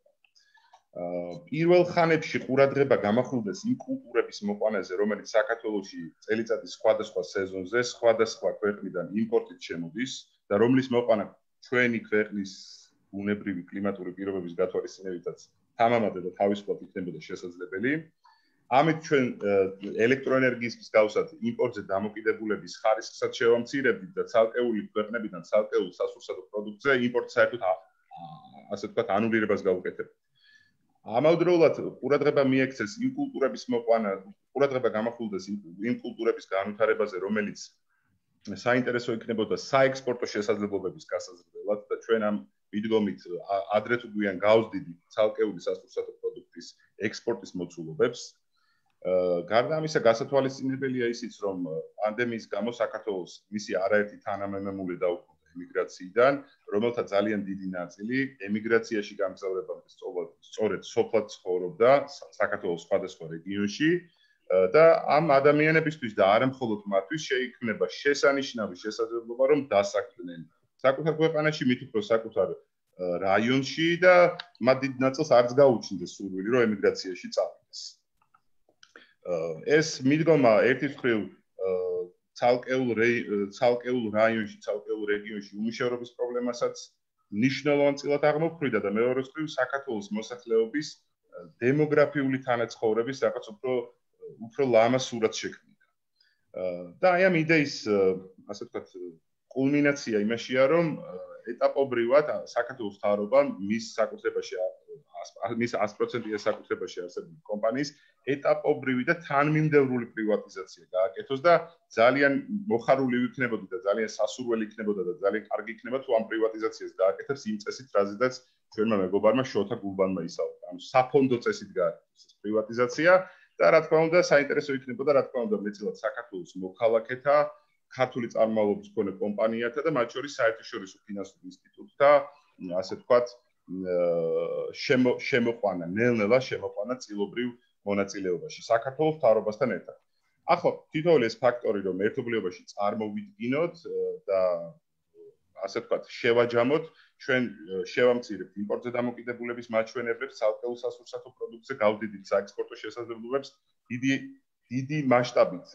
პირველ ხანებში ყურადღება გამახვილდეს იმ კულტურების მოყვანაზე, რომელიც საქართველოში წელიწადის სხვადასხვა სეზონზე, სხვადასხვა ქვეყნიდან იმპორტით შემოდის და რომლის მოყვანა ჩვენი ქვეყნის ბუნებრივი კლიმატური პირობების გათვალისწინებითაც თამამად და თავისუფლად იქნებოდა შესაძლებელი. ამით ჩვენ ელექტროენერგიის მსგავსად იმპორტზე დამოკიდებულების ხარისხსაც შევამცირებდით და ცალკეული ქვეყნებიდან ცალკეულ სასურსათო პროდუქტზე იმპორტს საერთოდ ასე ვთქვათ ანულირებას გავუკეთებთ. ამავდროულად ყურადღება მიექცეს იმ კულტურების მოყვანა, ყურადღება გამახვილდეს იმ კულტურების განვითარებაზე, რომელიც საინტერესო იქნებოდა საექსპორტო შესაძლებლობების გასაზრდელად და ჩვენ ამ მიდგომით ადრე თუ გვიან გავზდიდით ცალკეული სასურსათო პროდუქტის ექსპორტის მოცულობებს. გარდა ამისა, გასათვალისწინებელია ისიც, რომ პანდემიის გამო საქართველოს მისი არაერთი თანამემამულე დაუბრუნდა ემიგრაციიდან, რომელთა ძალიან დიდი ნაწილი ემიგრაციაში გამგზავრებამდე სწორედ სოფლად ცხოვრობდა საქართველოს სხვადასხვა რეგიონში და ამ ადამიანებისთვის და არა მხოლოდ მათთვის შეიქმნება შესანიშნავი შესაძლებლობა რომ დასაქმდნენ საკუთარ ქვეყანაში, მით უფრო საკუთარ რაიონში და მათ დიდ ნაწილს არც გაუჩნდეს სურვილი რომ ემიგრაციაში წავიდეს. ეს მიდგომა ერთის მხრივ ცალკეულ ცალკეულ რაიონში, ცალკეულ რეგიონში უმუშევრობის პრობლემასაც ნიშნულოვან წილად აღმოფხვრიდა და მეორეს მხრივ საქართველოს მოსახლეობის დემოგრაფიული თანაცხოვრების რაღაც უფრო უფრო ლამაზ სურათს შექმნიდა. და აი ამ იდეის, ასე ვთქვათ, კულმინაცია იმაშია, რომ ეტაპობრივად საქართველოს მთავრობა მის საკუთრებაში მის ას პროცენტიან საკუთრებაში არსებული კომპანიის ეტაპობრივი და თანმიმდევრული პრივატიზაცია გააკეთოს და ძალიან მოხარული ვიქნებოდი და ძალიან სასურველი იქნებოდა და ძალიან კარგი იქნება თუ ამ პრივატიზაციას გააკეთებს იმ წესით, რაზედაც ჩვენმა მეგობარმა შოთა გულბანმა ისაუბრა. ანუ საფონდო წესით გააკეთოს ეს პრივატიზაცია და რა თქმა უნდა საინტერესო იქნებოდა რა თქმა უნდა მეტწილად საქართველოს მოქალაქეთა ქართული წარმომავლობის მქონე კომპანიათა და მათ შორის საერთაშორისო ფინანსურ ინსტიტუტთა ასე ვთქვათ შემოყვანა, ნელ-ნელა შემოყვანა წილობრივ მონაწილეობაში საქართველოს მთავრობასთან ერთად. ახლა თითოეული ეს ფაქტორი რომ ერთობლიობაში წარმოვიდგინოთ და ასე ვთქვათ შევაჯამოთ, ჩვენ შევამცირებთ იმპორტზე დამოკიდებულების მაჩვენებლებს, ცალკეულ სასურსათო პროდუქტზე გავდიდით საექსპორტო შესაძლებლობებს, დიდი დიდი მასშტაბით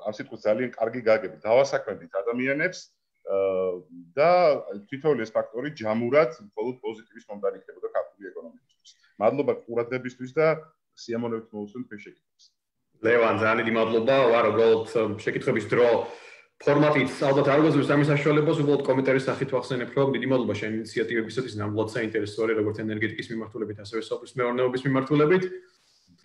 ასე ვთქვათ ძალიან კარგი გაგებით დავასაქმებთ ადამიანებს და თითოეული ეს ფაქტორი ჯამურად მხოლოდ პოზიტივის მომდანი იქნებოდა ქართული ეკონომიკისთვის. მადლობა ყურადღებისთვის და სიამოვნებით მოვუსმენთ თქვენ შეკითხვებს. ლევან, ძალიან დიდი მადლობა. ვარ უბრალოდ შეკითხვების დრო ფორმატით ალბათ არ გვაძლევს ამის საშუალებას, უბრალოდ კომენტარის სახით ვახსენებ, რომ დიდი მადლობა შენ ინიციატივებისათვის, ნამდვილად საინტერესო არის როგორც ენერგეტიკის მიმართულებით, ასევე სოფლის მეურნეობის მიმართულებით.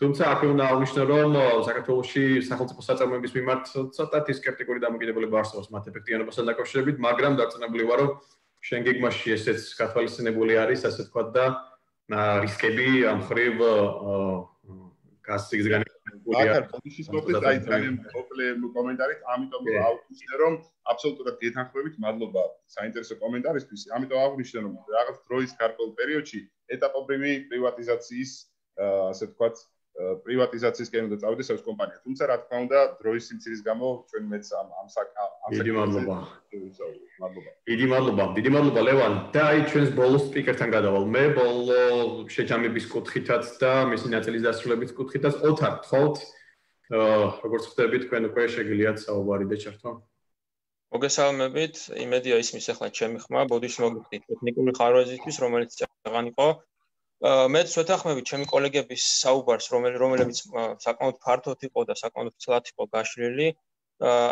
თუმცა აქ უნდა აღნიშნო, რომ საქართველოში სახელმწიფო საწარმოების მიმართ ცოტათი სკეპტიკური დამოკიდებულება არსებობს მათ ეფექტიანობასთან დაკავშირებით, მაგრამ დარწმუნებული ვარ, რომ შენ გეგმაში ესეც გათვალისწინებული არის, ასე ვთქვათ და რისკები ამ მხრივ გასციგზგანი აქ ბოდიშის მოკლედ აი ძალიან მოკლე კომენტარით, ამიტომ აუხსნე რომ აბსოლუტურად გეთანხმებით, მადლობა საინტერესო კომენტარისთვის. ამიტომ აღვნიშნე რომ რაღაც დროის გარკვეულ პერიოდში ეტაპობრივი პრივატიზაციის ასე ვთქვათ პრივატიზაციისკენ უნდა წავიდეს ეს კომპანია. თუმცა რა თქმა უნდა, დროის სიმცირის გამო ჩვენ მეც ამ ამ ამ დიდი მადლობა. მადლობა. დიდი მადლობა. დიდი მადლობა ლევან. და აი ჩვენს ბოლო სპიკერთან გადავალ. მე ბოლო შეჯამების კუთხითაც და მისი ნაწილის დასრულების კუთხითაც ოთარ გთხოვთ. როგორც ხვდები თქვენ უკვე შეგიძლიათ საუბარი და ჩართვა. მოგესალმებით. იმედია ისმის ახლა ჩემი ხმა, ბოდიში მოგიხდით ტექნიკური ხარვეზისთვის, რომელიც წაღან იყო. მეც ვეთანხმებით ჩემი კოლეგების საუბარს, რომლებიც საკმაოდ ფართოდ იყო და საკმაოდ ცლად იყო გაშლილი.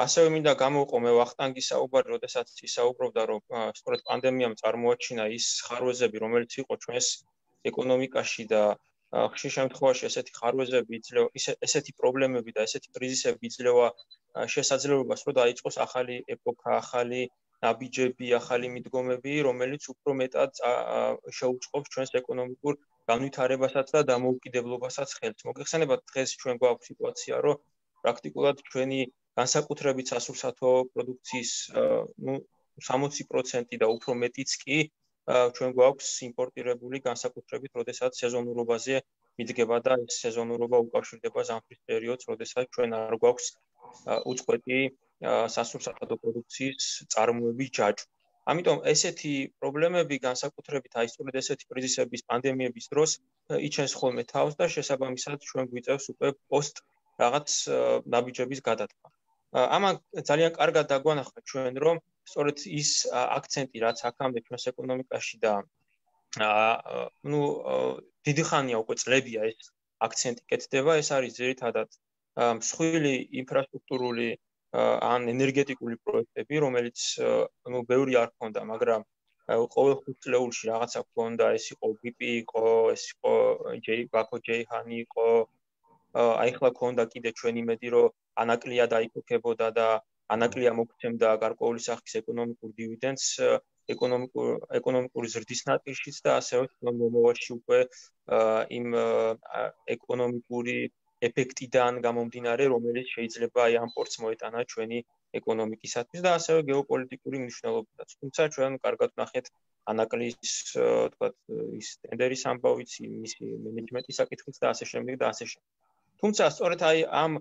ასევე მინდა გამოვყო მე ვახტანგის საუბარი, როდესაც ისაუბრობდა, რომ სწორედ პანდემიამ წარმოაჩინა ის ხარვეზები, რომელიც იყო ჩვენს ეკონომიკაში და ხშირ შემთხვევაში ესეთი ხარვეზები იძლევა, ესეთი პრობლემები და ესეთი კრიზისები იძლევა შესაძლებლობას, რომ დაიწყოს ახალი ეპოქა, ახალი ნაბიჯები, ახალი მიდგომები, რომელიც უფრო მეტად შეუწყობს ჩვენს ეკონომიკურ განვითარებასაც და დამოუკიდებლობასაც ხელს. მოგეხსენებათ, დღეს ჩვენ გვაქვს სიტუაცია, რომ პრაქტიკულად ჩვენი განსაკუთრებით სასურსათო პროდუქციის ნუ სამოცი პროცენტი და უფრო მეტიც კი ჩვენ გვაქვს იმპორტირებული განსაკუთრებით, როდესაც სეზონურობაზე მიდგება და ეს სეზონურობა უკავშირდება ზამთრის პერიოდს, როდესაც ჩვენ არ გვაქვს უწყვეტი სასურსათო პროდუქციის წარმოების ჯაჭვ. ამიტომ ესეთი პრობლემები განსაკუთრებით აი სწორედ ესეთი კრიზისების, პანდემიების დროს იჩენს ხოლმე თავს და შესაბამისად ჩვენ გვიწევს უკვე პოსტ რაღაც ნაბიჯების გადადგმა. ამან ძალიან კარგად დაგვანახა ჩვენ, რომ სწორედ ის აქცენტი, რაც აქამდე ჩვენს ეკონომიკაში და ნუ დიდი ხანია უკვე წლებია ეს აქცენტი კეთდება, ეს არის ძირითადად მსხვილი ინფრასტრუქტურული ან ენერგეტიკული პროექტები, რომელიც ნუ ბევრი არ ქონდა, მაგრამ ყოველ ხუთ წლეულში რაღაცა ქონდა, ეს იყო ბიპი იყო, ეს იყო ბაქო ჯეიჰანი იყო, აი ხლა ქონდა კიდე ჩვენ იმედი, რომ ანაკლია დაიფუქებოდა და ანაკლია მოგცემდა გარკვეული სახის ეკონომიკურ დივიდენდს ეკონომიკურ ეკონომიკური ზრდის ნაწილშიც და ასევე მომავალში უკვე იმ ეკონომიკური ეფექტიდან გამომდინარე, რომელიც შეიძლება აი ამ პორტს მოეტანა ჩვენი ეკონომიკისათვის და ასევე გეოპოლიტიკური მნიშვნელობითაც. თუმცა ჩვენ კარგად ვნახეთ ანაკლიის, თქვათ, ის ტენდერის ამბავიც, მისი მენეჯმენტის საკითხიც და ასე შემდეგ და ასე შემდეგ. თუმცა სწორედ აი ამ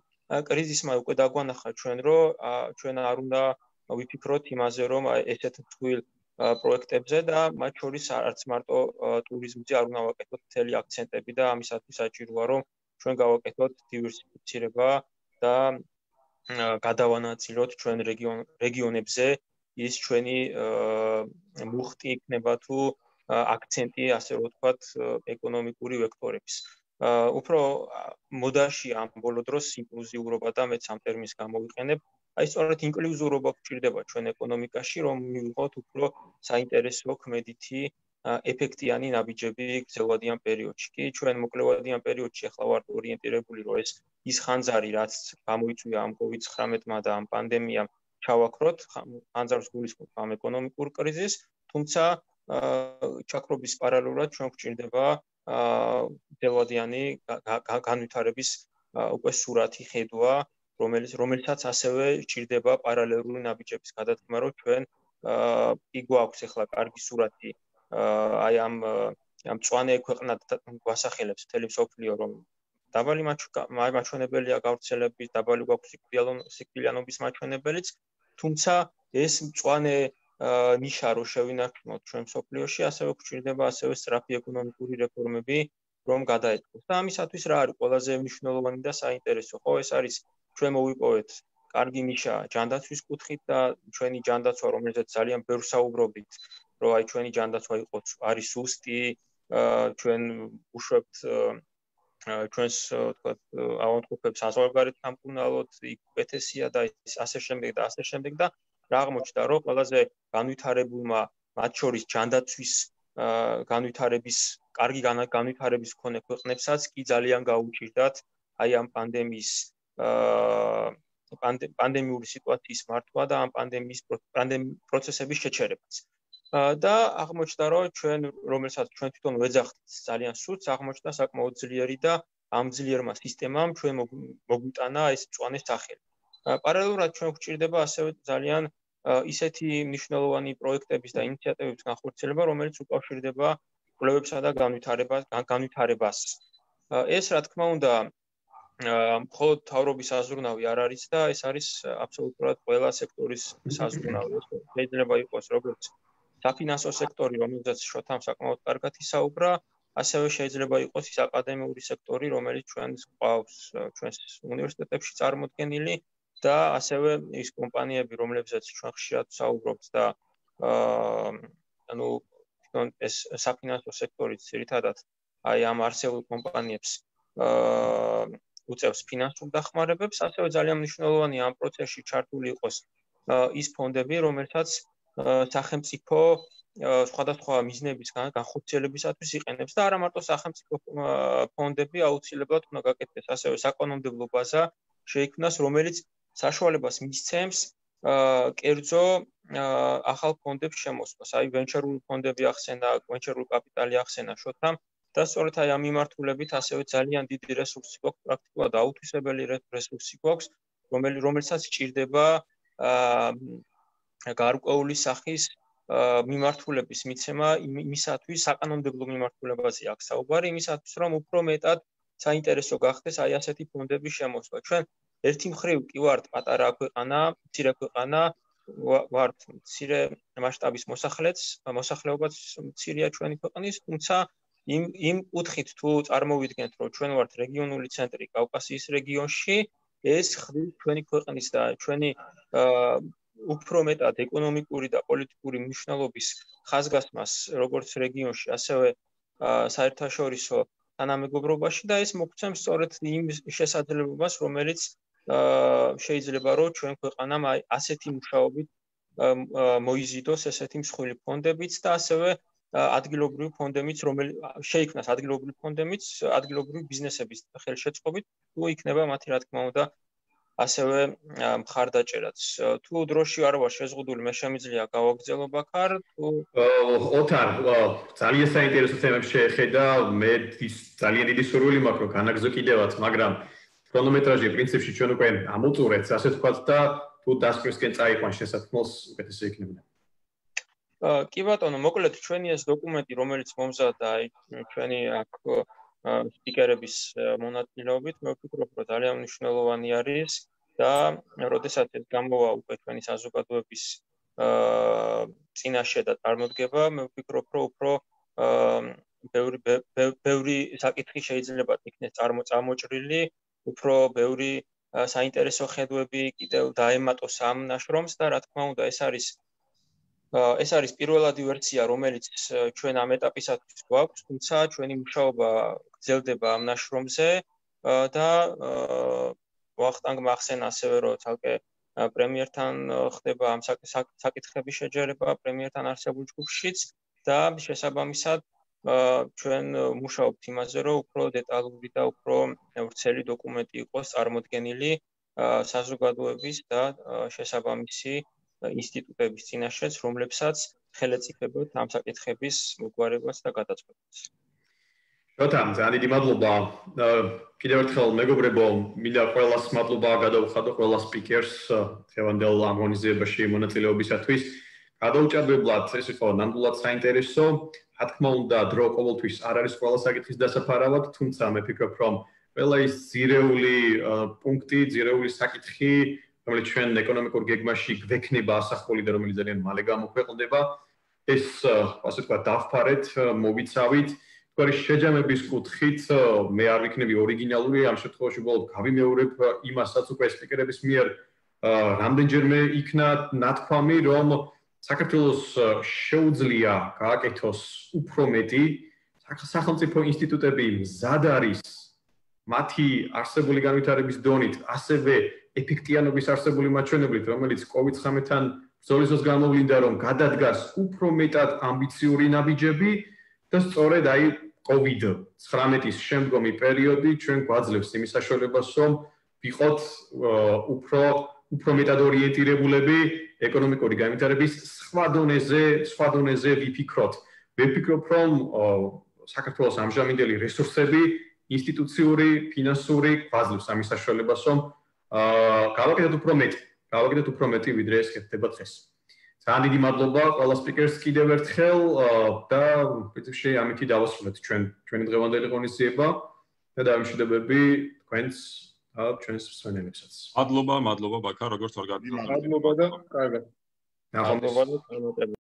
კრიზისმა უკვე დაგვანახა ჩვენ რომ ჩვენ არ უნდა ვიფიქროთ იმაზე რომ ესეთ თვილ პროექტებზე და მათ შორის არც მარტო ტურიზმზე არ უნდა ვაკეთოთ მთელი აქცენტები და ამისათვის საჭიროა რომ ჩვენ გავაკეთოთ დივერსიფიცირება და გადავანაწილოთ ჩვენ რეგიონებზე ის ჩვენი მუხტი იქნება თუ აქცენტი ასე რომ ვთქვათ ეკონომიკური ვექტორების. უფრო მოდაში ამ ბოლო დროს ინკლუზიურობა და მეც ამ ტერმინს გამოვიყენებ. აი სწორედ ინკლუზიურობა გვჭირდება ჩვენ ეკონომიკაში, რომ მივიღოთ უფრო საინტერესო ქმედითი ეფექტიანი ნაბიჯები გრძელვადიან პერიოდში. კი ჩვენ მოკლევადიან პერიოდში ახლა ვართ ორიენტირებული, რომ ეს ის ხანძარი, რაც გამოიწვია ამ კოვიდ ცხრამეტმა და ამ პანდემიამ ჩავაქროთ, ხანძარს გულისხმობ ამ ეკონომიკურ კრიზისს, თუმცა ჩაქრობის პარალელურად ჩვენ გვჭირდება გრძელვადიანი განვითარების უკვე სურათი ხედვა, რომელიც რომელსაც ასევე ჭირდება პარალელური ნაბიჯების გადადგმა, რომ ჩვენ კი გვაქვს ახლა კარგი სურათი აი ამ ამ მწვანე ქვეყნად გვასახელებს მთელი მსოფლიო, რომ დაბალი მაჩვენებელია გავრცელების, დაბალი გვაქვს სიკვდილიანობის მაჩვენებელიც, თუმცა ეს მწვანე ნიშა რო შევინარჩუნოთ ჩვენ მსოფლიოში, ასევე გვჭირდება ასევე სწრაფი ეკონომიკური რეფორმები, რომ გადაეწყოს. და ამისათვის რა არის ყველაზე მნიშვნელოვანი და საინტერესო? ხო, ეს არის ჩვენ მოვიპოვეთ კარგი ნიშა ჯანდაცვის კუთხით და ჩვენი ჯანდაცვა, რომელზეც ძალიან ბევრ საუბრობთ, რომ აი ჩვენი ჯანდაცვა იყოს არის სუსტი, ჩვენ უშვებთ ჩვენს ვთქვათ ავადმყოფებს საზღვარგარეთ სამკურნალოდ, იქ უკეთესია და ასე შემდეგ და ასე შემდეგ და რა აღმოჩნდა, რომ ყველაზე განვითარებულმა მათ შორის ჯანდაცვის განვითარების კარგი განვითარების მქონე ქვეყნებსაც კი ძალიან გაუჭირდათ აი ამ პანდემიის პანდემიური სიტუაციის მართვა და ამ პანდემიის პროცესების შეჩერებაც. და აღმოჩნდა, რომ ჩვენ რომელსაც ჩვენ თვითონ ვეძახთ ძალიან სულს, აღმოჩნდა საკმაოდ ძლიერი და ამ ძლიერმა სისტემამ ჩვენ მოგვიტანა ეს მწვანე სახელი. პარალელურად ჩვენ გვჭირდება ასევე ძალიან ისეთი მნიშვნელოვანი პროექტების და ინიციატივების განხორციელება, რომელიც უკავშირდება კვლევებსა და განვითარებას. ეს რა თქმა უნდა მხოლოდ მთავრობის საზრუნავი არ არის და ეს არის აბსოლუტურად ყველა სექტორის საზრუნავი. შეიძლება იყოს როგორც საფინანსო სექტორი, რომელზეც შოთამ საკმაოდ კარგად ისაუბრა, ასევე შეიძლება იყოს ის აკადემიური სექტორი, რომელიც ჩვენს ყავს ჩვენს უნივერსიტეტებში წარმოდგენილი და ასევე ის კომპანიები, რომლებზეც ჩვენ ხშირად ვსაუბრობთ და ანუ თვითონ ეს საფინანსო სექტორი ძირითადად აი ამ არსებულ კომპანიებს უწევს ფინანსურ დახმარებებს, ასევე ძალიან მნიშვნელოვანია ამ პროცესში ჩართული იყოს ის ფონდები, რომელსაც სახელმწიფო სხვადასხვა მიზნების განხორციელებისათვის იყენებს და არა მარტო სახელმწიფო ფონდები აუცილებლად უნდა გაკეთდეს, ასევე საკანონმდებლო ბაზა შეიქმნას, რომელიც საშუალებას მისცემს კერძო ახალ ფონდებს შემოსვლას. აი ვენჩერული ფონდები ახსენა, ვენჩერული კაპიტალი ახსენა შოთამ და სწორედ აი ამ მიმართულებით ასევე ძალიან დიდი რესურსი გვაქვს, პრაქტიკულად აუთვისებელი რესურსი გვაქვს, რომელსაც სჭირდება გარკვეული სახის მიმართულების მიცემა იმისათვის, საკანონმდებლო მიმართულებაზე აქ საუბარი, იმისათვის, რომ უფრო მეტად საინტერესო გახდეს აი ასეთი ფონდების შემოსვლა. ჩვენ ერთი მხრივ კი ვართ პატარა ქვეყანა, მცირე ქვეყანა, ვართ მცირე მასშტაბის მოსახლეც, მოსახლეობაც მცირეა ჩვენი ქვეყნის, თუმცა იმ იმ კუთხით თუ წარმოვიდგენთ, რომ ჩვენ ვართ რეგიონული ცენტრი კავკასიის რეგიონში, ეს ხდის ჩვენი ქვეყნის და ჩვენი უფრო მეტად ეკონომიკური და პოლიტიკური მნიშვნელობის ხაზგასმას როგორც რეგიონში, ასევე საერთაშორისო თანამეგობრობაში და ეს მოგცემს სწორედ იმ შესაძლებლობას, რომელიც შეიძლება რომ ჩვენ ქვეყანამ ასეთი მუშაობით მოიზიდოს ესეთი მსხვილი ფონდებიც და ასევე ადგილობრივი ფონდებიც, რომელიც შეიქმნას ადგილობრივი ფონდებიც, ადგილობრივი ბიზნესების ხელშეწყობით, თუ იქნება მათი რა თქმა უნდა ასევე მხარდაჭერაც. თუ დროში არ ვარ შეზღუდული, მე შემიძლია გავაგრძელო ბაქარ, თუ ოთარ, ძალიან საინტერესო თემებს შეეხედა, მე ძალიან დიდი სურვილი მაქვს, რომ განაგზო კიდევაც, მაგრამ ქრონომეტრაჟი პრინციპში ჩვენ უკვე ამოწურეთ, ასე ვთქვათ და თუ დასკვნისკენ წაიყვან შესაძლოს უკეთესი იქნება. კი ბატონო, მოკლედ ჩვენი ეს დოკუმენტი, რომელიც მომზადდა, აი ჩვენი აქ სპიკერების მონაწილეობით მე ვფიქრობ, რომ ძალიან მნიშვნელოვანი არის და როდესაც ეს გამოვა უკვე ჩვენი საზოგადოების წინაშე და წარმოდგება, მე ვფიქრობ, რომ უფრო ბევრი ბევრი საკითხი შეიძლება იქნეს წარმოჭრილი, უფრო ბევრი საინტერესო ხედვები კიდევ დაემატოს ამ ნაშრომს და რა თქმა უნდა ეს არის ეს არის პირველადი ვერსია, რომელიც ჩვენ ამ ეტაპისათვის გვაქვს, თუმცა ჩვენი მუშაობა გრძელდება ამ ნაშრომზე და ვახტანგ მახსენ ასევე რომ ცალკე პრემიერთან ხდება ამ საკითხების შეჯერება პრემიერთან არსებულ ჯგუფშიც და შესაბამისად ჩვენ მუშაობთ იმაზე, რომ უფრო დეტალური და უფრო ვრცელი დოკუმენტი იყოს წარმოდგენილი საზოგადოების და შესაბამისი ინსტიტუტების წინაშეც, რომლებსაც ხელეწიფებთ ამ საკითხების მოგვარებას და გადაწყვეტას. შოთა, ძალიან დიდი მადლობა. კიდევ ერთხელ მეგობრებო, მინდა ყველას მადლობა გადავხადო ყველა სპიკერს დღევანდელ ამ ღონისძიებაში მონაწილეობისათვის. გადაუჭარბებლად ეს იყო ნამდვილად საინტერესო. რა თქმა უნდა, დრო ყოველთვის არ არის ყველა საკითხის დასაფარავად, თუმცა მე ვფიქრობ, რომ ყველა ის ძირეული პუნქტი, ძირეული საკითხი, რომელიც ჩვენ ეკონომიკურ გეგმაში გვექნება ასახული და რომელიც ძალიან მალე გამოქვეყნდება, ეს ასე ვთქვათ, დავფარეთ, მოვიცავით. თქვენი შეჯამების კუთხით მე არ ვიქნები ორიგინალური, ამ შემთხვევაში უბრალოდ გავიმეორებ იმასაც უკვე სპიკერების მიერ რამდენჯერმე იქნა ნათქვამი, რომ საქართველოს შეუძლია გააკეთოს უფრო მეტი, სახელმწიფო ინსტიტუტები მზად არის მათი არსებული განვითარების დონით, ასევე ეფექტიანობის არსებული მაჩვენებლით, რომელიც კოვიდ ცხრამეტთან ბრძოლის დროს გამოვლინდა, რომ გადადგას უფრო მეტად ამბიციური ნაბიჯები და სწორედ აი კოვიდ ცხრამეტის შემდგომი პერიოდი ჩვენ გვაძლევს იმის საშუალებას, რომ ვიყოთ უფრო უფრო მეტად ორიენტირებულები ეკონომიკური განვითარების სხვა დონეზე, სხვა დონეზე ვიფიქროთ. ვიფიქრობ, რომ საქართველოს ამჟამინდელი რესურსები, ინსტიტუციური, ფინანსური გვაძლევს ამის საშუალებას, რომ გავაკეთოთ უფრო მეტი, გავაკეთოთ უფრო მეტი, ვიდრე ეს ხდება დღეს. ძალიან დიდი მადლობა ყველა სპიკერს კიდევ ერთხელ და პრინციპში ამითი დავასრულეთ ჩვენ ჩვენი დღევანდელი ღონისძიება და დამშვიდებები თქვენს და ჩვენს მსმენელებსაც. მადლობა, მადლობა ბაქა, როგორც ორგანიზატორი. მადლობა და კარგად. მადლობა და